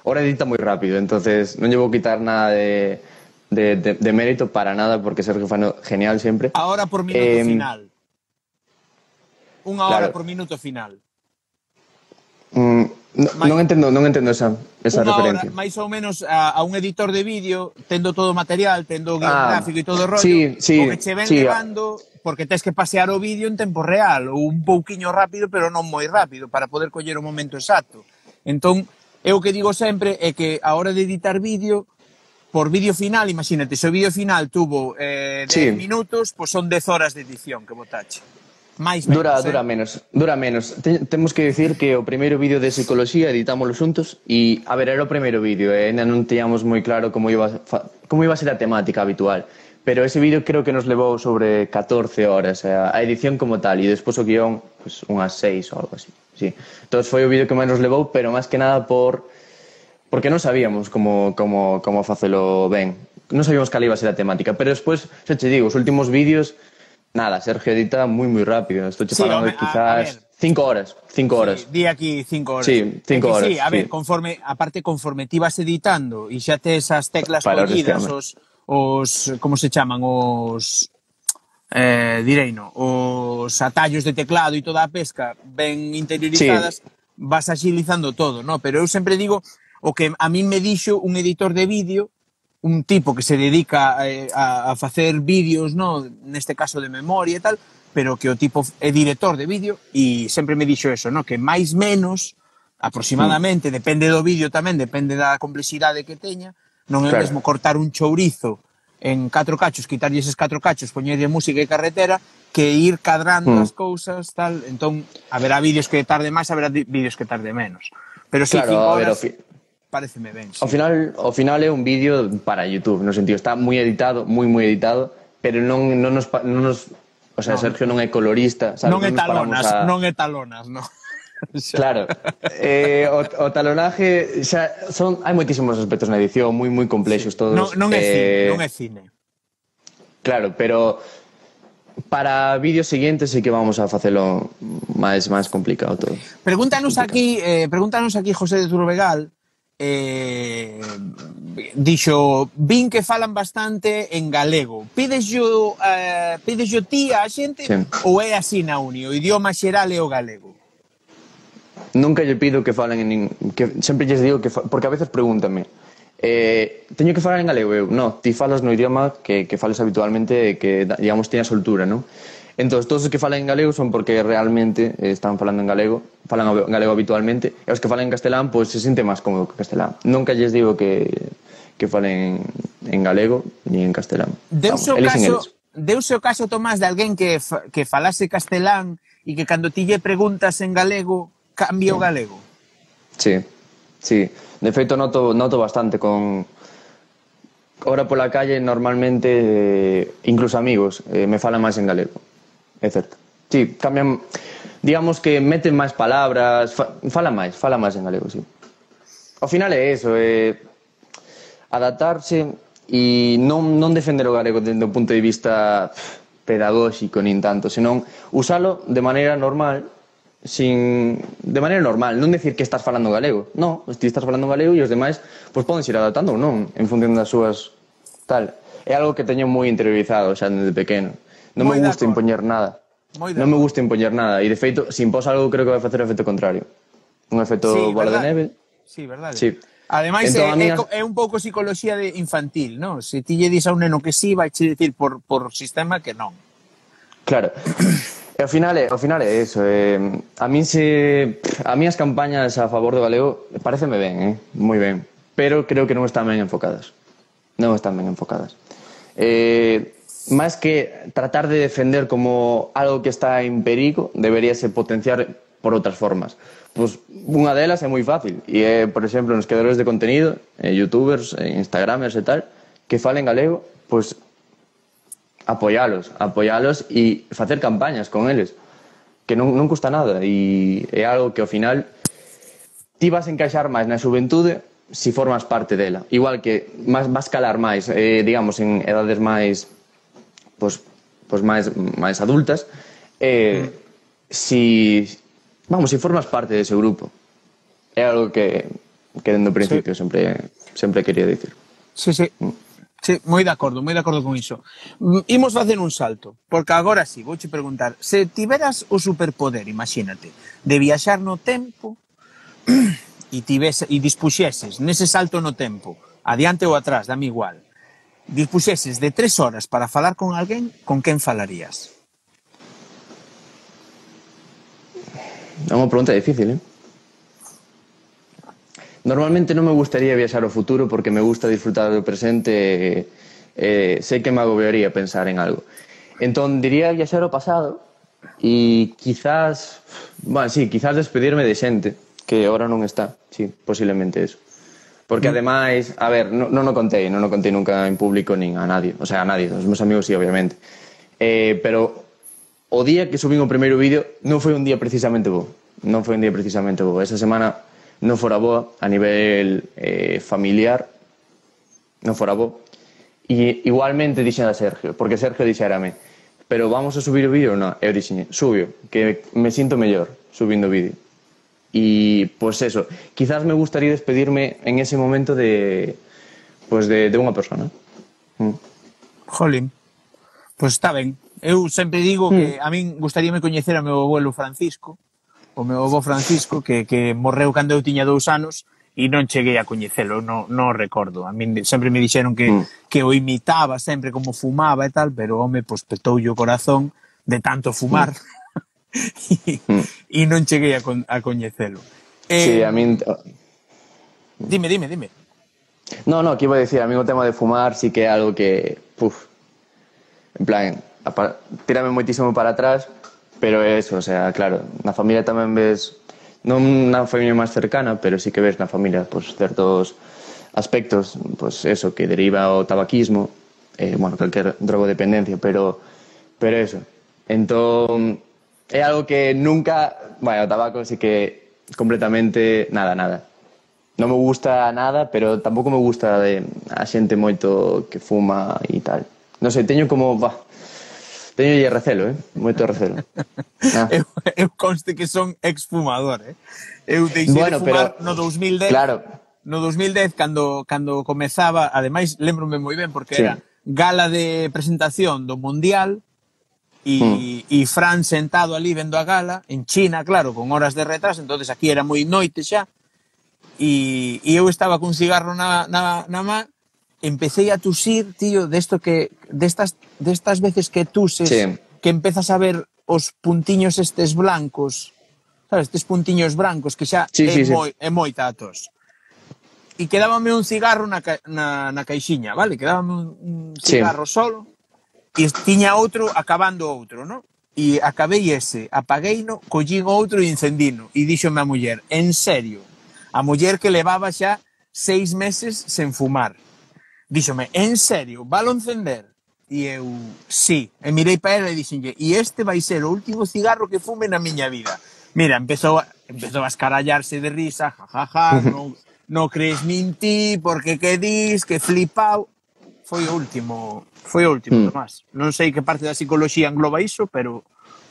Ora edita moi rápido, entonces non lle vou quitar nada de, de, de, de mérito para nada porque Sergio fano genial sempre. A hora por minuto eh, final. Unha hora claro. Por minuto final. Mm, no, Mais, non entendo, non entendo esa, esa unha referencia. Hora, máis ou menos a, a un editor de vídeo, tendo todo o material, tendo o guión ah, gráfico e todo o rollo, sí, sí, o que che ven sí, levando, porque tens que pasear o vídeo en tempo real, ou un pouquiño rápido, pero non moi rápido, para poder coller o momento exacto. Entón, eu o que digo sempre é que a hora de editar vídeo, por vídeo final, imagínate, se o vídeo final tuvo eh, dez sí. minutos, pois pues son dez horas de edición que botache. Mais menos, dura, eh? dura menos, dura menos. Ten, temos que decir que o primeiro vídeo de psicología editámoslo xuntos e, a ver, era o primeiro vídeo, e eh? ainda non teñamos moi claro como iba, como iba a ser a temática habitual. Pero ese vídeo creo que nos levou sobre catorce horas, eh, a edición como tal, e despois o guión, pues, unhas seis ou algo así. Sí. Entón foi o vídeo que máis nos levou, pero máis que nada por... porque non sabíamos como, como, como facelo ben. Non sabíamos cal iba a ser a temática, pero despois, xa che digo, os últimos vídeos... Nada, Sergio edita moi moi rápido. Estou che falando sí, de quizás cinco horas, cinco horas. Sí, di aquí cinco horas. Sí, cinco horas. Sí, a ver, sí. conforme, aparte conforme ti vas editando e xa tes as teclas collidas, os, os, como se chaman, os, eh, direino, os atallos de teclado e toda a pesca ben interiorizadas, sí. Vas agilizando todo, ¿no? Pero eu sempre digo, o que a min me dixo un editor de vídeo, un tipo que se dedica eh, a, a facer vídeos, no, neste caso de memoria e tal, pero que o tipo é director de vídeo e sempre me dixo eso, no, que máis menos, aproximadamente, mm. depende do vídeo tamén, depende da complexidade que teña, non é claro. Mesmo cortar un chourizo en catro cachos, quitarlle eses catro cachos, poñerlle música e carretera, que ir cadrando mm. as cousas, tal, entón, haberá vídeos que tarde máis, haberá vídeos que tarde menos. Pero si, claro, cinco horas... Pareceme ben, sí. Ao final, ao final é un vídeo para YouTube, no sentido, está moi editado, moi moi editado, pero non, non, nos, non nos... O sea, no, Sergio non é colorista, sabes? Non é talonas, a... non é talonas, non. Claro. Eh, o, o talonaje, xa, son, hai moitísimos aspectos na edición, moi moi complexos todos. Non, non é eh, cine, non é cine. Claro, pero para vídeos seguintes sí que vamos a facelo máis máis complicado todo. Pregúntanos aquí, eh, pregúntanos aquí José de Turbegal, eh, dixo, vin que falan bastante en galego. Pides yo, eh, pides yo ti a xente sí. Ou é así na uni? O idioma xeral é o galego? Nunca lle pido que falen en... Que, sempre lles digo que... Fa, porque a veces pregúntame, eh, teño que falar en galego eu? No, ti falas no idioma que, que fales habitualmente, que, digamos, teña soltura, non? Entón, todos os que falan en galego son porque realmente están falando en galego, falan en galego habitualmente, e os que falan en castelán, pois pues, se sente máis cómodo que castelán. Nunca lles digo que, que falen en galego ni en castelán. Deuse o caso, deuse o caso, Tomás, de alguén que, que falase castelán e que cando ti lle preguntas en galego, cambia o galego? Sí, sí. De feito, noto, noto bastante con... Ahora pola calle, normalmente, eh, incluso amigos, eh, me falan máis en galego. É certo. Sí, cambian, digamos que meten máis palabras, fa, fala máis, fala máis en galego, sí. Ao final é eso, é adaptarse e non, non defender o galego dende o punto de vista pff, pedagóxico nin tanto, senón usalo de maneira normal, sin de maneira normal, non decir que estás falando galego, non, ti estás falando galego e os demais pois poden ir adaptando ou non en función das súas tal. É algo que teño moi interiorizado xa desde pequeno. Non me gusta impoñer nada. Non me gusta impoñer nada e de feito, se impós algo creo que vai facer o efecto contrario. Un efecto bola de neve. Sí, verdade. Sí. Ademais, entón, é, amigas... é un pouco psicología de infantil, non? Se ti lle dis a un neno que sí, vai che dicir por, por sistema que non. Claro. E ao final é, ao final é eso. Eh, a mí se... A mí as campañas a favor do galego pareceme ben, eh? Moi ben. Pero creo que non están ben enfocadas. Non están ben enfocadas. Eh, máis que tratar de defender como algo que está en perigo, deberíase potenciar por outras formas. Pois unha delas é moi fácil e é, por exemplo, nos creadores de contenido, eh, youtubers, eh, instagramers e tal, que falen galego, pois apoialos, apoialos e facer campañas con eles, que non, non custa nada e é algo que ao final ti vas encaixar máis na xuventude se formas parte dela. Igual que vas, vas calar máis, eh, digamos, en edades máis pois, pois máis, máis adultas, eh, mm. si vamos, si formas parte dese grupo. É algo que, que dende o principio sí. sempre, sempre quería dicir. Sí, sí. Mm. Sí, moi de acordo, moi de acordo con iso. Imos facer un salto, porque agora sí, vouche preguntar, se tiveras o superpoder, imagínate, de viaxar no tempo e tivese e dispuxeses nese salto no tempo, adiante ou atrás, dame igual, dispuxeses de tres horas para falar con alguén, con quen falarías? É unha pregunta difícil, eh? Normalmente non me gustaría viaxar ao futuro porque me gusta disfrutar do presente e eh, sei que me agobiaría pensar en algo. Entón, diría viaxar ao pasado e quizás, bueno, sí, quizás despedirme de xente que agora non está, sí, posiblemente eso. Porque ademais, a ver, non, non o contei, non o contei nunca en público nin a nadie, o sea, a nadie, os meus amigos sí, obviamente. Eh, pero o día que subín o primeiro vídeo non foi un día precisamente bo, non foi un día precisamente bo. Esa semana non fora boa a nivel eh, familiar, non fora bo. E igualmente dixen a Sergio, porque Sergio dixérame, pero vamos a subir o vídeo ou non? Eu dixen, subio, que me sinto mellor subindo o vídeo. E, pois pues eso, quizás me gustaría despedirme en ese momento de, pues de, de unha persona. Mm. Jolín, pois pues está ben. Eu sempre digo mm. que a min gustaríame coñecer a meu abuelo Francisco, o meu avó Francisco, que, que morreu cando eu tiña dous anos e non cheguei a coñecelo, non, non recordo. A min sempre me dixeron que, mm. que o imitaba sempre como fumaba e tal, pero home, pois petoulle o corazón de tanto fumar mm. e, mm. e non cheguei a, con, a coñecelo. Eh, sí, a min... Dime, dime, dime. No, no, que iba a decir, a min o tema de fumar sí que é algo que, puf, en plan, tírame moitísimo para atrás. Pero é eso, o sea, claro, na familia tamén ves, non na familia máis cercana, pero sí que ves na familia pues, certos aspectos, pues eso, que deriva o tabaquismo, eh, bueno, calquer drogodependencia, pero, pero eso. Entón, é algo que nunca, bueno, o tabaco sí que completamente nada, nada. Non me gusta nada, pero tampouco me gusta de, a xente moito que fuma e tal. Non sei, teño como, bah, teño lle recelo, eh? Moito recelo. Ah. eu, eu conste que son exfumador, eh? Eu deixei bueno, de fumar pero, no dos mil dez. Claro. No dos mil dez, cando, cando comezaba, ademais, lembrome moi ben, porque sí. Era gala de presentación do Mundial e, mm. e Fran sentado ali vendo a gala, en China, claro, con horas de retraso, entonces aquí era moi noite xa, e, e eu estaba cun cigarro na, na, na má, empecé a tusir, tío, desto que destas destas veces que tuses, sí. Que empezas a ver os puntiños estes blancos, sabes, estes puntiños blancos que xa sí, é, sí, moi, sí. é moita a tos. E quedábame un cigarro na, na, na caixiña, vale? Quedábame un, un cigarro sí. Solo e tiña outro acabando outro, ¿no? E acabei ese, apagueino, collín outro e encendino. E díxome a muller, en serio, a muller que levaba xa seis meses sen fumar. Díxome, en serio, valo encender? E eu, sí. E mirei para ela e dixenlle, e este vai ser o último cigarro que fume na miña vida. Mira, empezou a, empezou a escarallarse de risa, jajaja, ja, ja, non no crees nin ti, porque que dis, que flipao. foi o último, foi o último, Mm. Tomás. Non sei que parte da psicoloxía engloba iso, pero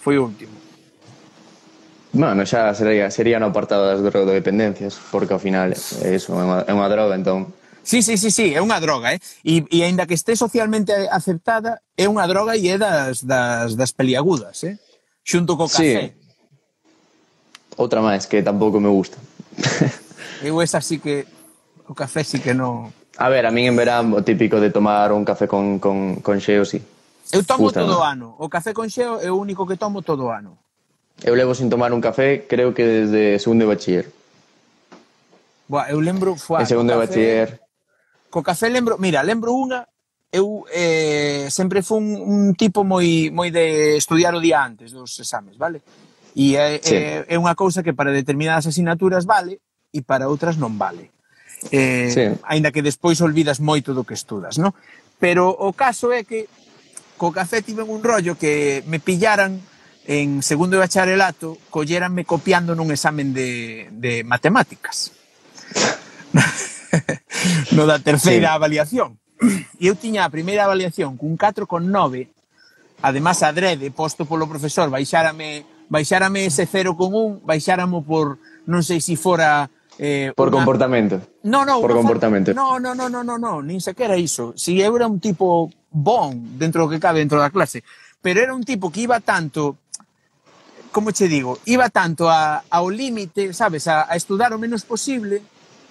foi o último. Bueno, xa sería, sería no apartado das drogodependencias, porque ao final é iso, é unha, é unha droga, entón... Sí, sí, sí, sí, é unha droga, eh? E, e aínda que este socialmente aceptada, é unha droga e é das, das, das peliagudas, eh? Xunto co café. Sí, outra máis que tampouco me gusta. Eu esa sí que... O café sí que non... A ver, a min en verán o típico de tomar un café con, con, con xeo, sí. Eu tomo Gusta, todo o ¿no? ano. O café con xeo é o único que tomo todo o ano. Eu levo sin tomar un café, creo que desde segundo de bachiller. Boa, eu lembro... Fuá, En segundo de co bachiller... Co café lembro... Mira, lembro unha... Eu eh, sempre fui un, un tipo moi, moi de estudiar o día antes dos exames, vale? E é, Sí. é, é unha cousa que para determinadas asignaturas vale e para outras non vale. Eh, Sí. Aínda que despois olvidas moito do que estudas, non? Pero o caso é que co café tiven un rollo que me pillaran en segundo de bacharelato, colléranme copiando nun examen de, de matemáticas. No da terceira Sí. avaliación. E eu tiña a primeira avaliación cun catro con nove, además adrede, posto polo profesor, baixárame, baixárame ese cero con un, baixáramo por, non sei se fora... Eh, Por unha... comportamento. No, no, Por unha comportamento. Falta... No, no, no, no, no, no, nin sequera iso. Si eu era un tipo bon dentro do que cabe dentro da clase, pero era un tipo que iba tanto, como che digo, iba tanto a, ao límite, sabes, a, a estudar o menos posible.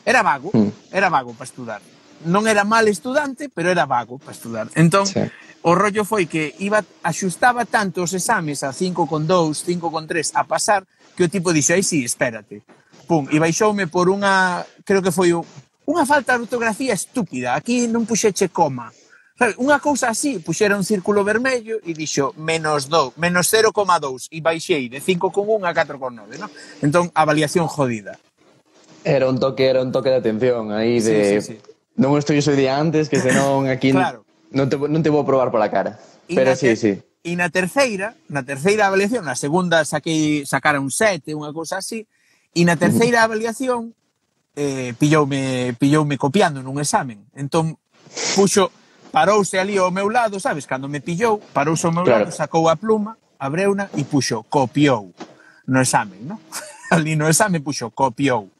Era vago, Mm. era vago para estudar. Non era mal estudante, pero era vago para estudar. Entón, Sí. o rollo foi que iba axustaba tanto os exames a cinco con dous, cinco con tres a pasar, que o tipo dixo, aí sí, espérate. Pum, e baixoume por unha, creo que foi un, unha falta de ortografía estúpida. Aquí non puxeche coma. Sabe, unha cousa así, puxera un círculo vermello e dixo menos dos, menos cero coma dous e baixei de cinco con un a catro con nove, ¿no? Entón, avaliación jodida. Era un toque, era un toque de atención aí de... Sí, sí, sí. Non estudios o día antes, que senón aquí Claro. non, te, non te vou probar pola cara. E Pero na sí, ter- sí. E na terceira, na terceira avaliación, na segunda saquei sacara un sete, unha cousa así, e na terceira avaliación eh, pilloume, pilloume copiando nun examen. Entón, puxo, parouse ali ao meu lado, sabes? Cando me pillou, parouse ao meu Claro. lado, sacou a pluma, abreuna e puxo copiou no examen, ¿no? Ali no examen puxo copiou.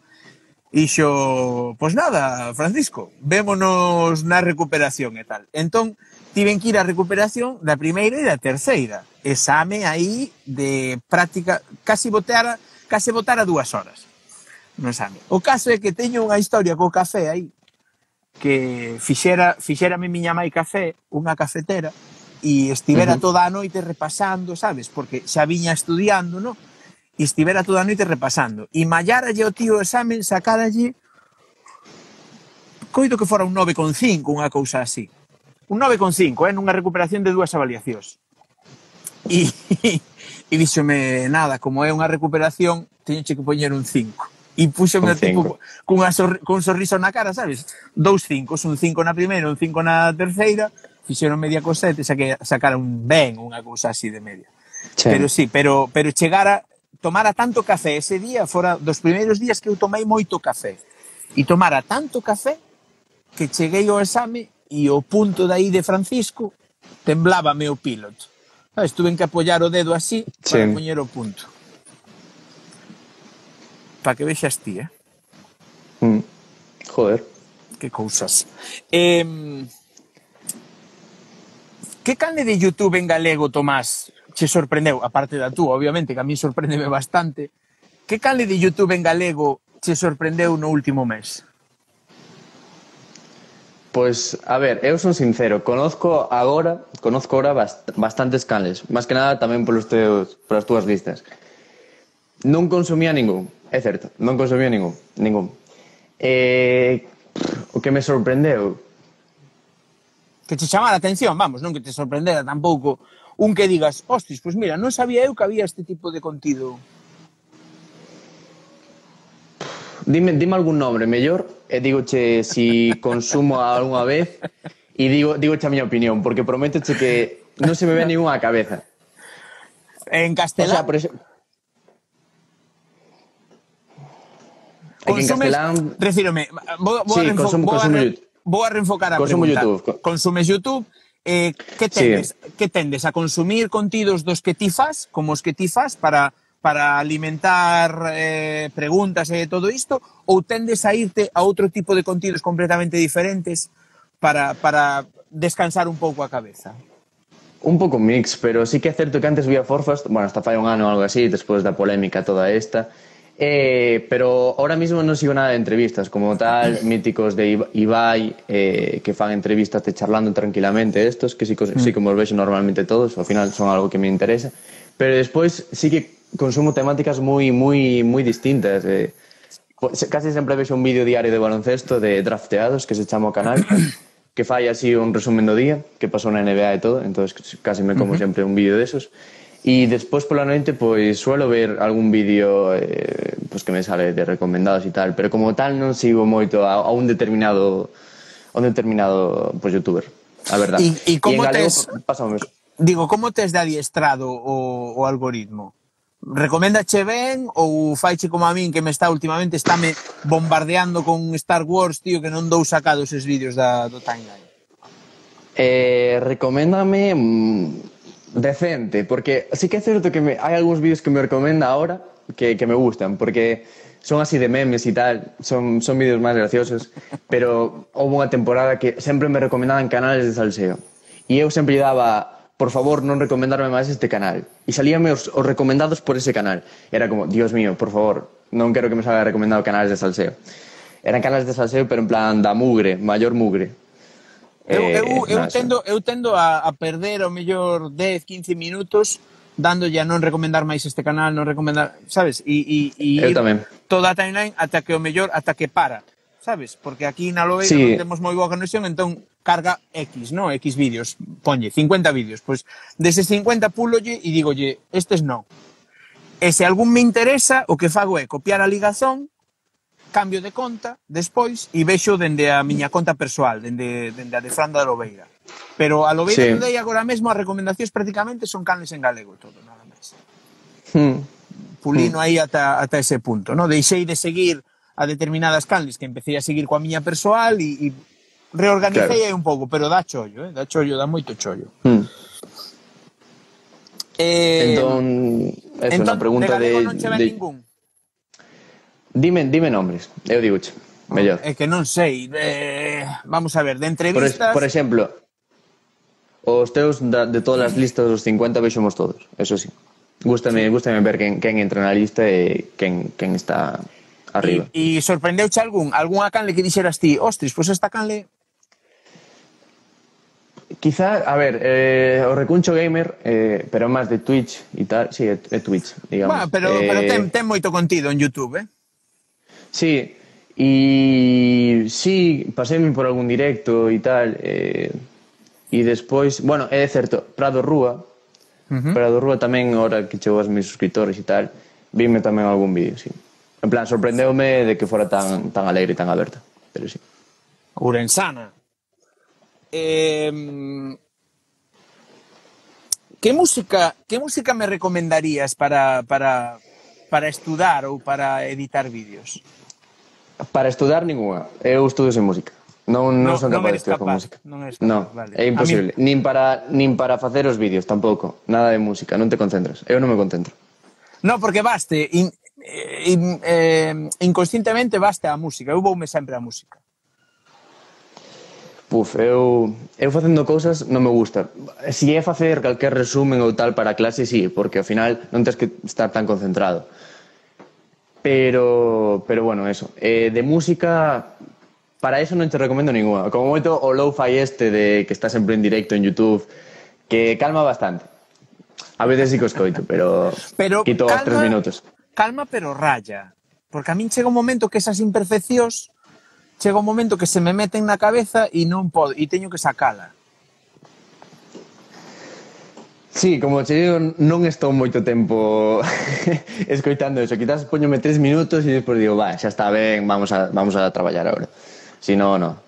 E xo, pois nada, Francisco, vémonos na recuperación e tal. Entón, tiven que ir á recuperación da primeira e da terceira. Exame aí de práctica, casi botara, casi botara dúas horas no exame. O caso é que teño unha historia co café aí, que fixera, fixérame miña mai café, unha cafetera, e estivera Ujú. toda a noite repasando, sabes? Porque xa viña estudiando, no? E estivera toda a noite repasando. E mallaralle o tío o examen, sacaralle coido que fora un nove con cinco, unha cousa así. Un nove con cinco, eh, nunha recuperación de dúas avaliacións. E, e díxome, nada, como é unha recuperación, teñoche que poñer un cinco. E púxome Un o tipo cinco. cunha sor, cun sorriso na cara, sabes? Dous cinco, un cinco na primeira, un cinco na terceira, fixeron media con sete, saque, sacara un ben, unha cousa así de media. Sí. Pero sí, pero, pero chegara, tomara tanto café ese día, fora dos primeiros días que eu tomei moito café. E tomara tanto café que cheguei ao exame e o punto de aí de Francisco temblábame o piloto. Sabes, tuven que apoiar o dedo así para Sí. poñer o punto. Para que vexas ti, eh? Mm. Joder. Que cousas. Eh, que canle de YouTube en galego, Tomás, che sorprendeu? Aparte da tú, obviamente, que a mí sorprendeme bastante. Que canle de YouTube en galego che sorprendeu no último mes? Pois, a ver, eu son sincero, conozco agora, conozco agora bast bastantes canles, máis que nada tamén polos teus, polas túas listas. Non consumía ningún, é certo, non consumía ningún, ningún. Eh, o que me sorprendeu, Que che chamara a atención, vamos, non que te sorprendera tampouco un que digas, hostis, pois mira, non sabía eu que había este tipo de contido. dime, dime algún nombre mellor e dígoche si consumo algunha vez e digo, dígoche a miña opinión, porque prométoche que non se me ve ningún á cabeza. En O castelán, sea, por exemplo, aquí en consumes, castelán, refírome, vou, vou, sí, a, reenfo- consumo, vou, a, consumo re, YouTube. vou a reenfocar a Consumo pregunta. YouTube. Consumes YouTube, eh, que tendes? Sí. Que tendes a consumir contidos dos que ti fas, como os que ti fas, para, para alimentar eh, preguntas e todo isto, ou tendes a irte a outro tipo de contidos completamente diferentes para, para descansar un pouco a cabeza? Un pouco mix, pero sí que é certo que antes vía Forfast, bueno, hasta fai un ano ou algo así, despois da polémica toda esta, eh, pero ahora mismo non sigo nada de entrevistas, como tal, míticos de Ibai, eh, que fan entrevistas de charlando tranquilamente estos, que sí, sí como os vexo normalmente todos, ao final son algo que me interesa, pero despois sí que consumo temáticas moi, moi, moi distintas, eh, casi sempre vexo un vídeo diario de baloncesto de drafteados, que se chama o canal, que fai así un resumen do día, que pasou na N B A e todo, entonces casi me como uh -huh. sempre un vídeo desos. E despois pola noite, pois, suelo ver algún vídeo eh, pues, que me sale de recomendados e tal, pero como tal non sigo moito a, a un determinado a un determinado pues, youtuber, a verdade. E, e como galego, tes... Pásame eso. Digo, como tes de adiestrado o, o algoritmo? Recoméndache ben ou faiche como a min que me está últimamente estáme bombardeando con Star Wars, tío, que non dou sacado eses vídeos da, do timeline? Eh, recoméndame mmm, decente, porque sí que é certo que me, hai algúns vídeos que me recomenda ahora que, que me gustan, porque son así de memes e tal, son, son vídeos máis graciosos, pero houve unha temporada que sempre me recomendaban canales de salseo e eu sempre lle daba, por favor, non recomendarme máis este canal. E salíame os, os recomendados por ese canal. Era como, Dios mío, por favor, non quero que me salga recomendado canales de salseo. Eran canales de salseo, pero en plan da mugre, maior mugre. Eu, eu, eh, eu, tendo, eu tendo a, a perder o mellor dez, quince minutos dándolle a non recomendar máis este canal, non recomendar, sabes? E, e, e ir tamén. Toda a timeline ata que o mellor, ata que para, sabes? Porque aquí na Lobeira sí. non temos moi boa conexión, entón carga X, ¿no? X vídeos, ponlle cincuenta vídeos, pois deses cincuenta púlolle e digolle, estes non. E se algún me interesa, o que fago é copiar a ligazón, cambio de conta, despois, e vexo dende a miña conta persoal, dende, dende a de Fran da Lobeira. Pero a Lobeira sí. Today agora mesmo as recomendacións prácticamente son canles en galego todo, nada máis. Hmm. Pulino hmm. aí ata, ata ese punto, ¿no? Deixei de seguir a determinadas canles que empecé a seguir coa miña persoal e, e reorganicei claro. Aí un pouco, pero dá chollo, eh? Dá chollo, dá moito chollo. Hmm. Eh, entón, eso, entón, na pregunta de... de... non che ven de... ningún? Dime, dime nombres, eu digoche, mellor. É que non sei, eh, vamos a ver, de entrevistas... Por, por exemplo, os teus da, de todas as listas dos cincuenta vexemos todos, eso sí. Gústame, sí. Gústame ver quen, quen entra na lista e quen, quen está arriba. E sorprendeuche algún? Algúnha canle que dixeras ti, ostris, pois pues esta canle... Quizá, a ver, eh, o Recuncho Gamer, eh, pero máis de Twitch e tal, sí, é, é Twitch, digamos. Bueno, pero, eh, pero ten, ten moito contido en YouTube, eh? Sí, e sí, paséme por algún directo e tal, eh, e despois, bueno, é certo, Prado Rúa, uh-huh. Prado Rúa tamén, ahora que chegou aos meus suscriptores e tal, vime tamén algún vídeo, sí. En plan, sorprendeume de que fora tan, tan alegre e tan aberta, pero sí. Ourensana. Eh, que música que música me recomendarías para, para, para estudar ou para editar vídeos? Para estudar ninguna. Eu estudo sen música. Non, non, non son capaz de estudar con música. Non, non, vale. É imposible. Mí... Nin, para, nin para facer os vídeos, tampouco. Nada de música, non te concentras. Eu non me concentro. No, porque baste, in, in, eh, inconscientemente baste a música. Eu voume sempre a música. Puf, eu, eu facendo cousas non me gusta. Si é facer calquer resumen ou tal para a clase, sí, porque ao final non tens que estar tan concentrado. Pero, pero bueno, eso. Eh, de música, para eso non te recomendo ninguna. Como moito o lo-fi este de que está sempre en directo en YouTube, que calma bastante. A veces sí que os coito, pero, pero quito calma, tres minutos. Calma, pero raya. Porque a min chega un momento que esas imperfeccións chega un momento que se me meten na cabeza e non podo, e teño que sacala. Sí, como che digo, non estou moito tempo escoitando eso. Quizás poñome tres minutos e despois digo, va, xa está ben, vamos a, vamos a traballar agora. Si no, no.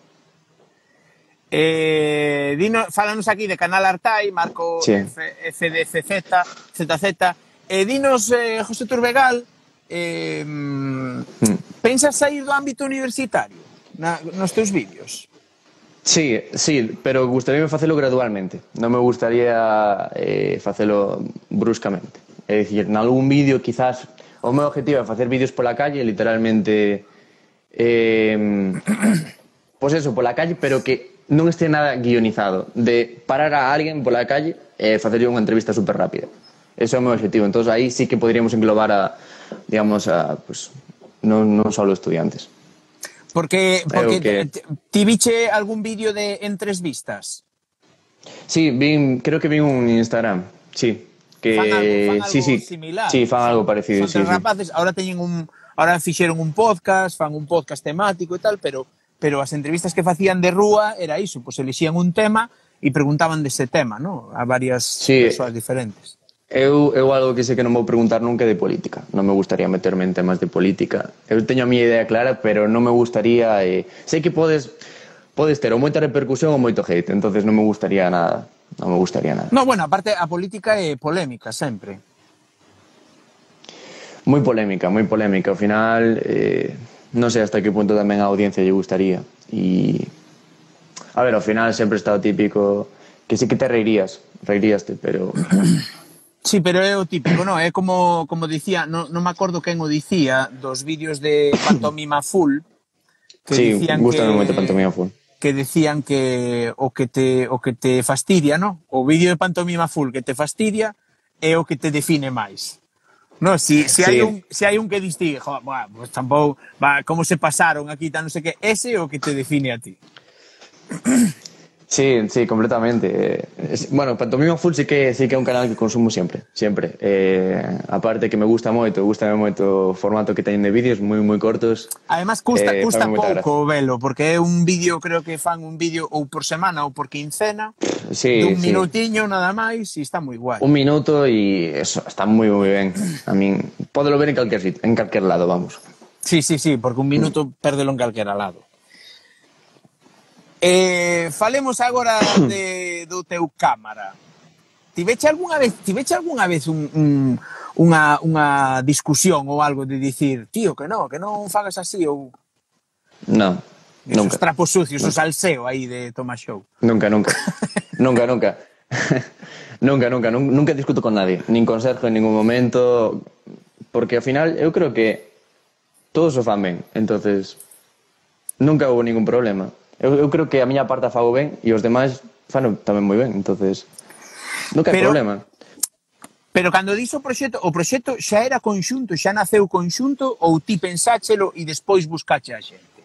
Eh, dino, fálanos aquí de Canal Artai, Marco sí. F D C Z, Z Z. Eh, dinos, eh, José Turbegal, eh, hmm. pensas sair do ámbito universitario na, nos teus vídeos? Sí, sí, pero gustaría facelo gradualmente. Non me gustaría eh, facelo bruscamente. É dicir, en algún vídeo, quizás, o meu objetivo é facer vídeos pola calle, literalmente, eh, pois eso, pola calle, pero que non este nada guionizado. De parar a alguén pola calle e facerlle unha entrevista super rápida. Ese é o meu objetivo. Entón, aí sí que poderíamos englobar a, digamos, a, pues, non, non só estudiantes. Porque, porque que... ti viche algún vídeo de en tres vistas? Sí, vin, creo que vi un Instagram, sí. Que, fan algo, fan algo sí, sí, similar. Sí, fan son, algo parecido, son sí, rapaces, sí. Ahora teñen un, ahora fixeron un podcast, fan un podcast temático e tal, pero pero as entrevistas que facían de rúa era iso, pois pues elixían un tema e preguntaban dese tema, ¿no? A varias sí. persoas diferentes. Eu, eu algo que sei que non vou preguntar nunca de política. Non me gustaría meterme en temas de política. Eu teño a miña idea clara, pero non me gustaría... Eh... Sei que podes, podes ter ou moita repercusión ou moito hate, entonces non me gustaría nada. Non me gustaría nada. No, bueno, aparte a política é polémica sempre. Moi polémica, moi polémica. Ao final, eh, non sei hasta que punto tamén a audiencia lle gustaría. E... A ver, ao final sempre está o típico que sí que te reirías, reiríaste, pero... Sí, pero é o típico, non? É como, como dicía, non, non me acordo quen o dicía, dos vídeos de Pantomima Full, que sí, dicían gustame que... moito Pantomima Full. Que decían que o que te o que te fastidia, ¿no? O vídeo de Pantomima Full que te fastidia é o que te define máis. No, si si sí. hai un si hai un que distingue, jo, bah, pues tampouco, va, como se pasaron aquí, tan non sei que, ese é o que te define a ti. Sí, sí, completamente. Bueno, Pantomima Full sí que sí que é un canal que consumo sempre, sempre. Eh, aparte que me gusta moito, gustame moito o formato que teñen de vídeos moi moi cortos. Además custa, eh, custa pouco velo, porque é un vídeo, creo que fan un vídeo ou por semana ou por quincena, sí, dun sí. minutiño nada máis, e está moi guai. Un minuto e eso, está moi moi ben. A min, pódelo ver en calquer sitio, en calquer lado, vamos. Sí, sí, sí, porque un minuto mm. pérdelo en calquera lado. Eh, falemos agora de, do teu cámara. Tiveche algunha vez, tiveche algunha vez un, un, unha, unha discusión ou algo de dicir, tío, que non, que non fagas así ou... Non, nunca. Esos trapos sucios, o salseo aí de Tomás Show. Nunca, nunca. nunca, nunca. nunca, nunca. Nunca discuto con nadie, nin con Sergio en ningún momento, porque ao final eu creo que todos o fan ben, entonces nunca houve ningún problema. Eu, eu creo que a miña parte a fago ben e os demais fano tamén moi ben, entonces nunca hai problema. Pero cando dis o proxecto, o proxecto xa era conxunto, xa naceu conxunto ou ti pensáchelo e despois buscache a xente?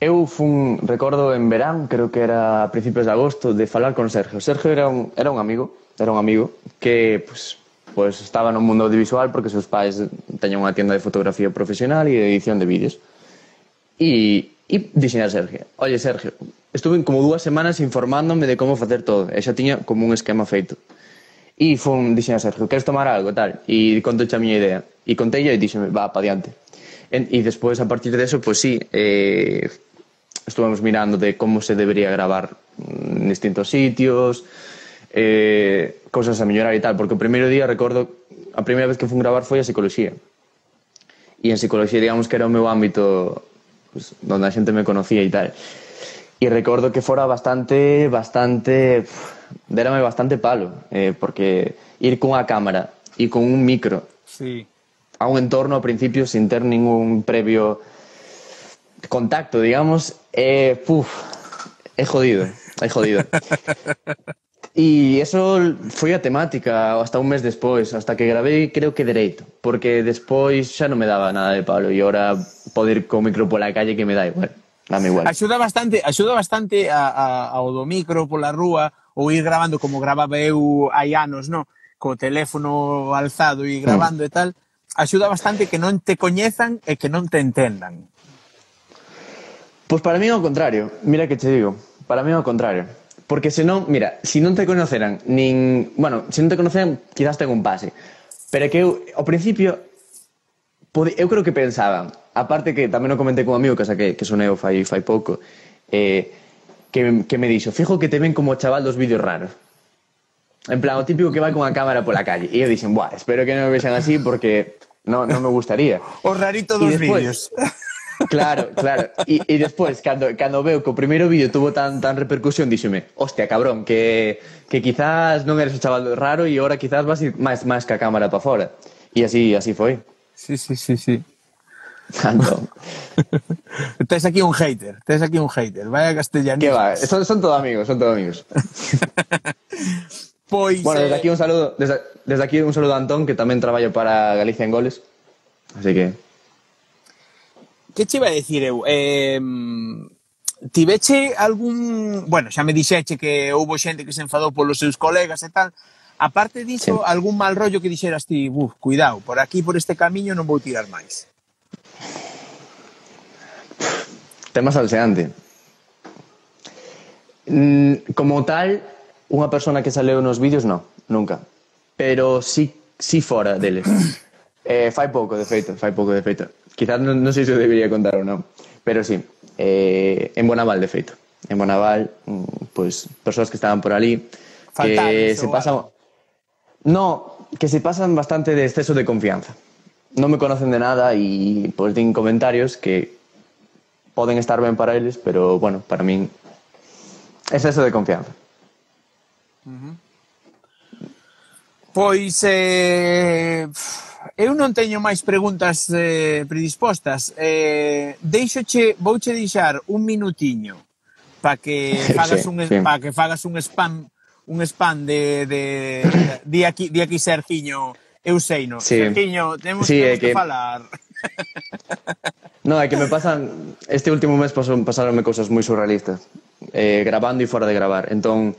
Eu fun, recordo en verán, creo que era a principios de agosto, de falar con Sergio. Sergio era un, era un amigo, era un amigo que pues, pues estaba no mundo audiovisual porque seus pais teñen unha tienda de fotografía profesional e de edición de vídeos. E, e dixen a Sergio, oye Sergio, estuve como dúas semanas informándome de como facer todo, e xa tiña como un esquema feito. E fun, dixen a Sergio, queres tomar algo, tal? E contoche a miña idea. E contei e dixeme, va, pa diante. E, e despois, a partir de eso, pues sí, eh, estuvemos mirando de como se debería gravar en distintos sitios, eh, cousas a mellorar e tal, porque o primeiro día, recordo, a primeira vez que fun gravar foi a psicología. E en psicología, digamos que era o meu ámbito... Pues, donde a xente me conocía e tal. E recordo que fora bastante, bastante, dérame bastante palo, eh, porque ir cunha cámara e con un micro sí. a un entorno ao principio sin ter ningún previo contacto, digamos, é, puf, é jodido, é jodido. E eso foi a temática hasta un mes despois, hasta que gravei creo que dereito, porque despois xa non me daba nada de palo e ahora poder ir co micro pola calle que me dá igual, dame igual. Axuda bastante, axuda bastante a, a, ao do micro pola rúa ou ir grabando como gravaba eu hai anos, no? Co teléfono alzado e gravando mm. e tal, axuda bastante que non te coñezan e que non te entendan. Pois para mí é o contrario, mira que te digo, para mí é o contrario. Porque senón, mira, se non te conoceran nin... Bueno, se non te conoceran, quizás ten un pase. Pero é que eu, ao principio, pode, eu creo que pensaban, aparte que tamén o comentei con un amigo que saquei, que sonei fai, fai pouco, eh, que, que me dixo, fijo que te ven como chaval dos vídeos raros. En plan, o típico que vai con a cámara pola calle. E eu dixen, buah, espero que non me vexan así porque non, non me gustaría. O rarito dos vídeos. Claro, claro. E, e despois, cando, cando veo que o primeiro vídeo tuvo tan, tan repercusión, díxome, hostia, cabrón, que, que quizás non eres un chaval raro e ahora quizás vas ir máis, máis ca cámara para fora. E así, así foi. Sí, sí, sí, sí. Entón, Tes aquí un hater, tes aquí un hater, vaya castellanismo. que va, son, son todos amigos, son todos amigos. Pois, Bueno, desde eh, aquí un saludo, desde, desde aquí un saludo a Antón, que tamén traballo para Galicia en Goles. Así que... que che iba a decir eu? Eh, tiveche algún... Bueno, xa me dixeche que houbo xente que se enfadou polos seus colegas e tal. Aparte diso, Sí. algún mal rollo que dixeras ti, uf, cuidado, por aquí, por este camiño non vou tirar máis. Tema salseante. Mm, como tal, unha persona que saleu nos vídeos, no, nunca. Pero sí, sí fora deles. eh, fai pouco, de feito, fai pouco, de feito. Quizás non, non sei se o debería contar ou non, pero sí, eh, en Bonaval, de feito. En Bonaval, mm, pues, persoas que estaban por ali, Faltaron, que se ou pasan... algo. No, que se pasan bastante de exceso de confianza. Non me conocen de nada e pues din comentarios que poden estar ben para eles, pero, bueno, para min, exceso de confianza. Pois, eh, eu non teño máis preguntas eh, predispostas. Eh, deixoche, vouche deixar un minutiño para que fagas Sí, un sí. para que fagas un spam un spam de de, de di aquí di aquí Sergiño, eu sei, no. Sí. Sergiño, temos, Sí, temos é que, que- falar. No, é que me pasan... Este último mes pasaron, pasaronme cousas moi surrealistas. Eh, grabando e fora de gravar. Entón,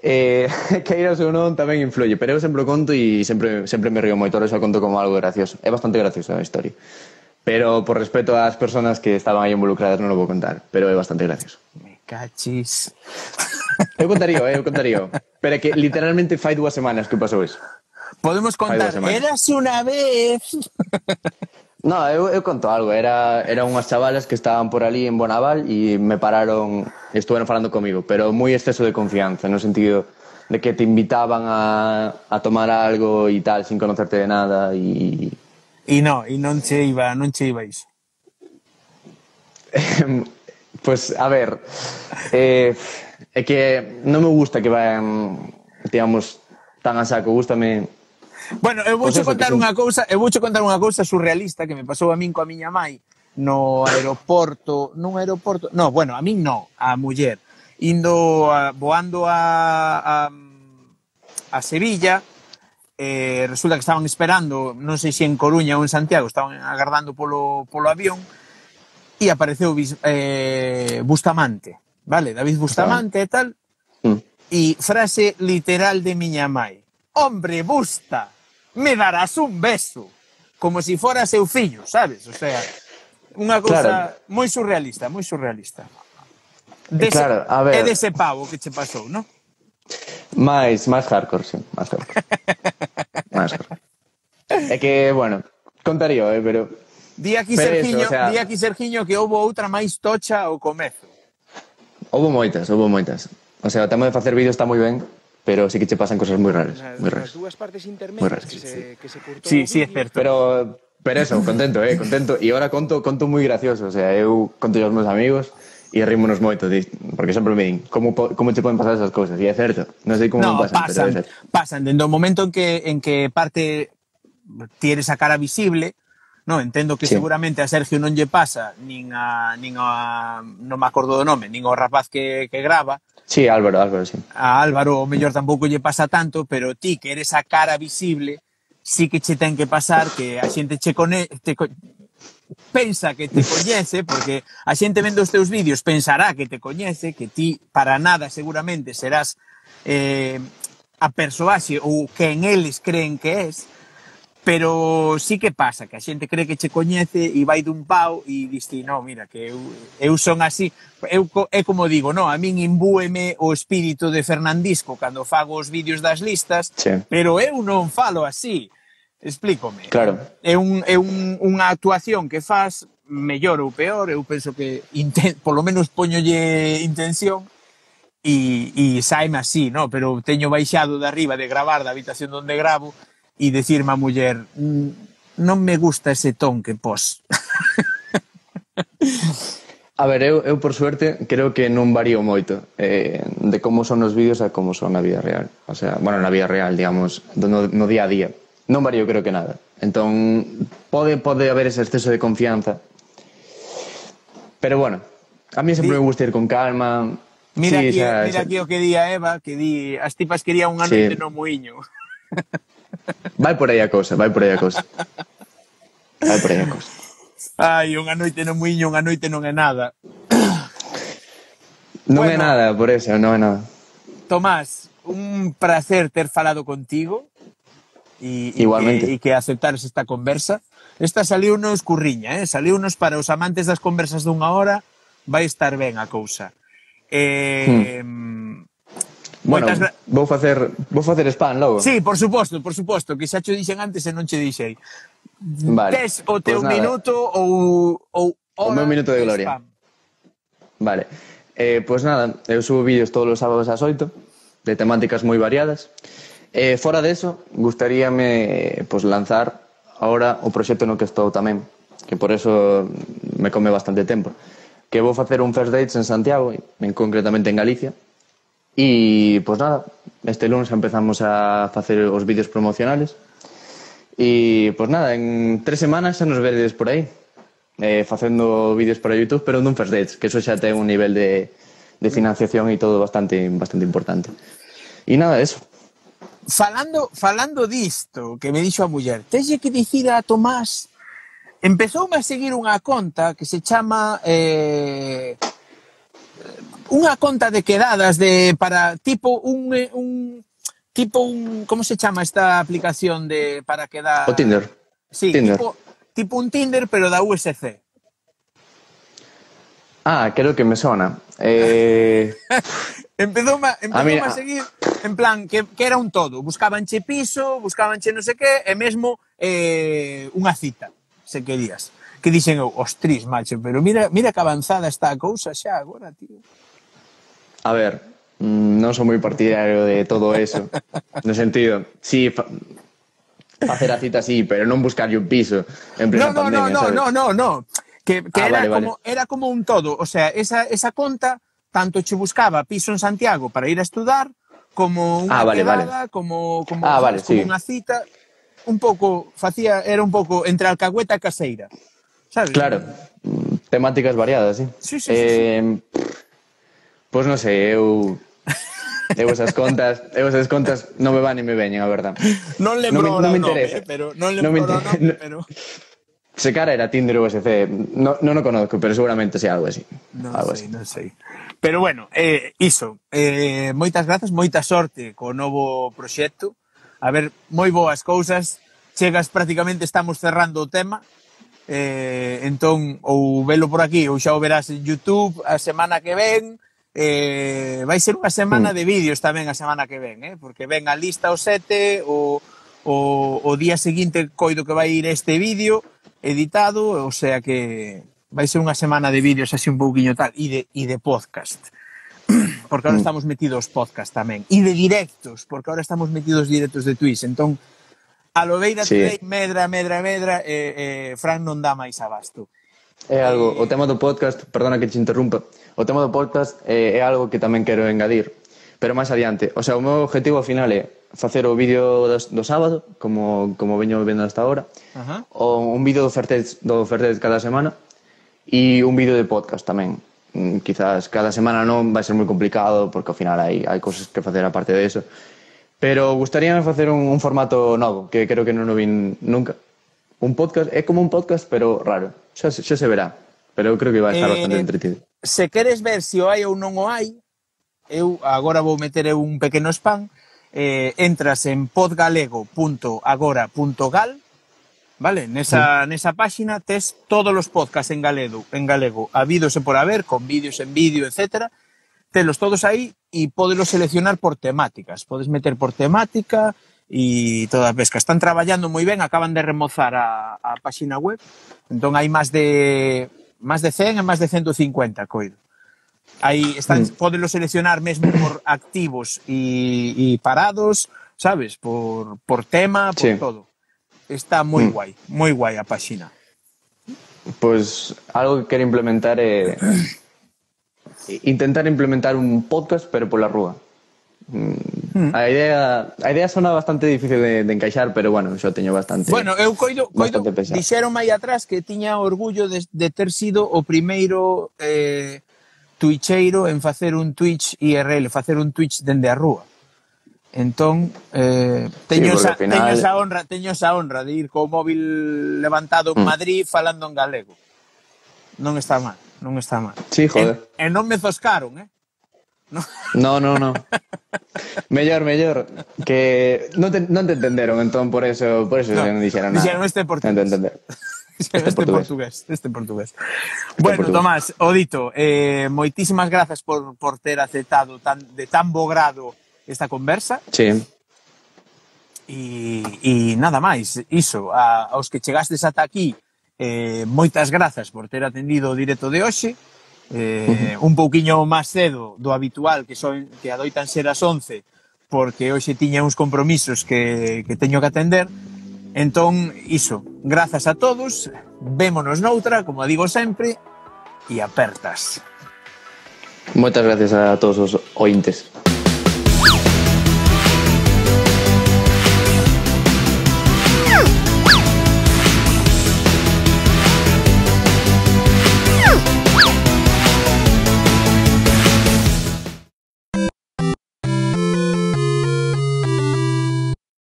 eh, queiras ou non, tamén influye. Pero eu sempre o conto e sempre, sempre me río moito. Ahora xa conto como algo gracioso. É bastante gracioso a historia. Pero por respeto ás persoas que estaban aí involucradas non o vou contar. Pero é bastante gracioso. Me cachis. Eu contaría, eh, eu contaría. Pero é que literalmente fai dúas semanas que pasou iso. Podemos contar, dúas semanas. érase unha vez. No, eu, eu conto algo. Era, era unhas chavalas que estaban por ali en Bonaval e me pararon, estuveron falando comigo, pero moi exceso de confianza, no sentido de que te invitaban a, a tomar algo e tal, sin conocerte de nada e... E non, e non che iba, non che iba iso. Pues, a ver, eh, é que non me gusta que vayan, digamos, tan a saco, gústame... Bueno, eu vouche Pois eso, contar que son- unha cousa, eu vouche contar unha cousa surrealista que me pasou a min coa miña mai no aeroporto, nun aeroporto, no, bueno, a min no, a muller, indo a, voando a, a a Sevilla, eh, resulta que estaban esperando, non sei se en Coruña ou en Santiago, estaban agardando polo polo avión e apareceu eh, Bustamante, vale, David Bustamante e tal, Mm. e frase literal de miña mai: hombre, Busta, me darás un beso, como si fora seu fillo, sabes? O sea, unha cousa Claro. moi surrealista, moi surrealista. Dese, Claro, a ver. É dese pavo que che pasou, non? Máis, máis hardcore, sí, máis hardcore. máis hardcore. É que, bueno, contaría, eh, pero... Di aquí Pero Sergiño, eso, o sea- di aquí Sergiño que houbo outra máis tocha ao comezo. Houbo moitas, houbo moitas. O sea, o tema de facer vídeos está moi ben, pero sí que che pasan cosas moi raras, Nas, moi nas raras. dúas partes Moi intermedias raras, que, sí, se, que se cortou Sí, o sí, é vídeo. certo. Pero, pero eso, contento, eh, contento. E agora conto, conto moi gracioso, o sea, eu conto aos meus amigos e rímonos moito, di- porque sempre me din, como, po- como te poden pasar esas cousas? E é certo, non sei como No, me pasan, pasan, pero é certo. pasan, dende o momento en que en que parte tienes a cara visible, no, entendo que Sí. seguramente a Sergio non lle pasa, nin a nin a non me acordo do nome, nin ao rapaz que que grava, Sí, Álvaro, Álvaro, sí. a Álvaro o mellor tampouco lle pasa tanto, pero ti que eres a cara visible, sí que che ten que pasar que a xente che cone te co pensa que te coñece, porque a xente vendo os teus vídeos pensará que te coñece, que ti para nada seguramente serás eh, a persoaxe ou que en eles creen que és, pero sí que pasa, que a xente cree que che coñece e vai dun pau e diste, no, mira, que eu, eu son así. Eu, co- é como digo, no, a min imbúeme o espírito de Fernandisco cando fago os vídeos das listas, Sí. pero eu non falo así. Explícome. Claro. É, un, é un, unha actuación que faz mellor ou peor, eu penso que inten, polo menos poñolle intención e, e saime así, no? Pero teño baixado de arriba de gravar da habitación onde gravo e decirme a muller, "Mm, non me gusta ese ton que pos." A ver, eu, eu por suerte creo que non varío moito eh, de como son os vídeos a como son na vida real. O sea, bueno, na vida real, digamos, no, no día a día. Non varío creo que nada. Entón, pode, pode haber ese exceso de confianza. Pero bueno, a mí sempre Di... me gusta ir con calma. Mira, sí, aquí, xa, mira xa. aquí o que di a Eva, que di as tipas querían unha Sí. noite no muiño. Vai por aí a cousa, vai por aí a cousa. Vai por aí a cousa. Ai, unha noite no muiño, unha noite non é nada. Non Bueno. é nada, por eso, non é nada. Tomás, un placer ter falado contigo e, e Igualmente. que, e que aceptares esta conversa. Esta saliu nos curriña, eh? Saliu nos para os amantes das conversas dunha hora, vai estar ben a cousa. Eh, hmm. Bueno, gra... vou facer vou facer spam logo. Sí, por suposto, por suposto, que xa cho dixen antes e non che dixei. Vale. Tes o teu Pues nada. minuto ou, ou O meu minuto de gloria. spam. Vale. Eh, pois pues nada, eu subo vídeos todos os sábados ás oito de temáticas moi variadas. Eh, fora deso, gustaríame pues, lanzar ahora o proxecto no que estou tamén, que por eso me come bastante tempo, que vou facer un First Dates en Santiago, en concretamente en Galicia. E, pois pues nada, este lunes empezamos a facer os vídeos promocionales. E, pois pues nada, en tres semanas xa nos veredes por aí, eh, facendo vídeos para YouTube, pero dun First Dates, que eso xa ten un nivel de, de financiación e todo bastante, bastante importante. E nada, eso. Falando, falando disto, que me dixo a muller, texe que dicir a Tomás, empezoume a seguir unha conta que se chama eh, unha conta de quedadas de para tipo un un tipo un como se chama esta aplicación de para quedar O Tinder. Sí, Tinder. tipo tipo un Tinder pero da U S C. Ah, creo que me sona. Eh... empezoume, empezoume a, a, mí, a seguir en plan que, que era un todo, buscabanche piso, buscabanche non sei que e mesmo eh, unha cita, se querías. Que dixen eu, ostris, macho, pero mira, mira que avanzada está a cousa xa agora, tío. A ver, non sou moi partidario de todo eso. No sentido, sí, fa, facer a cita sí, pero non buscarlle un piso en plena no, no, pandemia, no, sabes? no, no, no, que, que ah, era, vale, como, vale. era como un todo, o sea, esa, esa conta tanto che buscaba piso en Santiago para ir a estudar, como unha ah, vale, quedada, vale. como, como, ah, sabes, vale, como sí. unha cita, un pouco, facía, era un pouco entre alcahueta e caseira, sabes? Claro, temáticas variadas, sí. Sí, sí, eh, sí, sí. Pois pues non sei, eu... Eu esas contas, eu esas contas non me van ni me veñen, a verdad. Non lembro non me, non me nome, interesa. eh, pero non lembro non me o nome, pero se cara era Tinder ou U S C, non, non o conozco, pero seguramente sea algo así. Non algo sei, así. non sei. Pero bueno, eh, iso, eh, moitas grazas, moita sorte co novo proxecto. A ver, moi boas cousas. Chegas, prácticamente estamos cerrando o tema. Eh, entón, ou velo por aquí, ou xa o verás en YouTube a semana que ven. Eh, vai ser unha semana mm. de vídeos tamén a semana que ven, eh? Porque ven a lista o sete, o, o, o día seguinte coido que vai ir este vídeo editado, o sea que vai ser unha semana de vídeos así un pouquiño tal, e de, e de podcast, porque ahora mm. estamos metidos podcast tamén, e de directos, porque ahora estamos metidos directos de Twitch, entón a Lobeira sí. Today, medra, medra, medra, e eh, eh, Fran non dá máis abasto. É algo, o tema do podcast, perdona que te interrumpa, o tema do podcast é, é algo que tamén quero engadir, pero máis adiante. O sea, o meu objetivo ao final é facer o vídeo do, do sábado, como, como veño vendo hasta ahora, uh-huh. o un vídeo do Fertet do Fertet cada semana e un vídeo de podcast tamén. Mm, quizás cada semana non vai ser moi complicado, porque ao final hai, hai cosas que facer aparte de eso. Pero gustaríame facer un, un formato novo, que creo que non o vin nunca. Un podcast, é como un podcast, pero raro. Xa, xa se verá. Pero eu creo que vai estar eh, bastante entretido. Se queres ver se o hai ou non o hai, eu agora vou meter eu un pequeno spam, eh, entras en podgalego punto agora punto gal, vale? Nesa, sí. nesa páxina tes todos os podcasts en galego, en galego, habidos e por haber, con vídeos en vídeo, etcétera. Telos todos aí e podelos seleccionar por temáticas. Podes meter por temática e toda a pesca. Están traballando moi ben, acaban de remozar a, a páxina web, entón hai máis de máis de cen e máis de ciento cincuenta, coido. Aí están, mm. podelo seleccionar mesmo por activos e, e parados, sabes? Por, por tema, por sí. todo. Está moi mm. guai, moi guai a páxina. Pois algo que quero implementar é intentar implementar un podcast pero pola rúa. Mm. A idea a idea sona bastante difícil de, de encaixar, pero bueno, xo teño bastante. Bueno, eu coido, coido dixeron aí atrás que tiña orgullo de, de ter sido o primeiro eh, twitcheiro en facer un Twitch I R L, facer un Twitch dende a rúa. Entón, eh, teño, sí, esa, final... teño esa honra, teño esa honra de ir co móvil levantado en Madrid mm. falando en galego. Non está mal, non está mal. Sí, joder. E, e non me zoscaron, eh? No, no, no. no. mellor, mellor. Que non te, non te entenderon, entón por eso, por eso no, non dixeron nada. Dixeron este portugués. Non te entender. Este, este portugués. portugués. Este portugués. Este bueno, portugués. Tomás, Odito, eh, moitísimas grazas por, por ter aceptado tan, de tan bo grado esta conversa. Sí. E, e nada máis, iso, a, aos que chegastes ata aquí, eh, moitas grazas por ter atendido o directo de hoxe. Eh, uh-huh. Un pouquiño máis cedo do habitual, que son que adoitan ser as once, porque hoxe tiña uns compromisos que, que teño que atender. Entón, iso, grazas a todos, vémonos noutra, como digo sempre, e apertas. Moitas gracias a todos os ointes.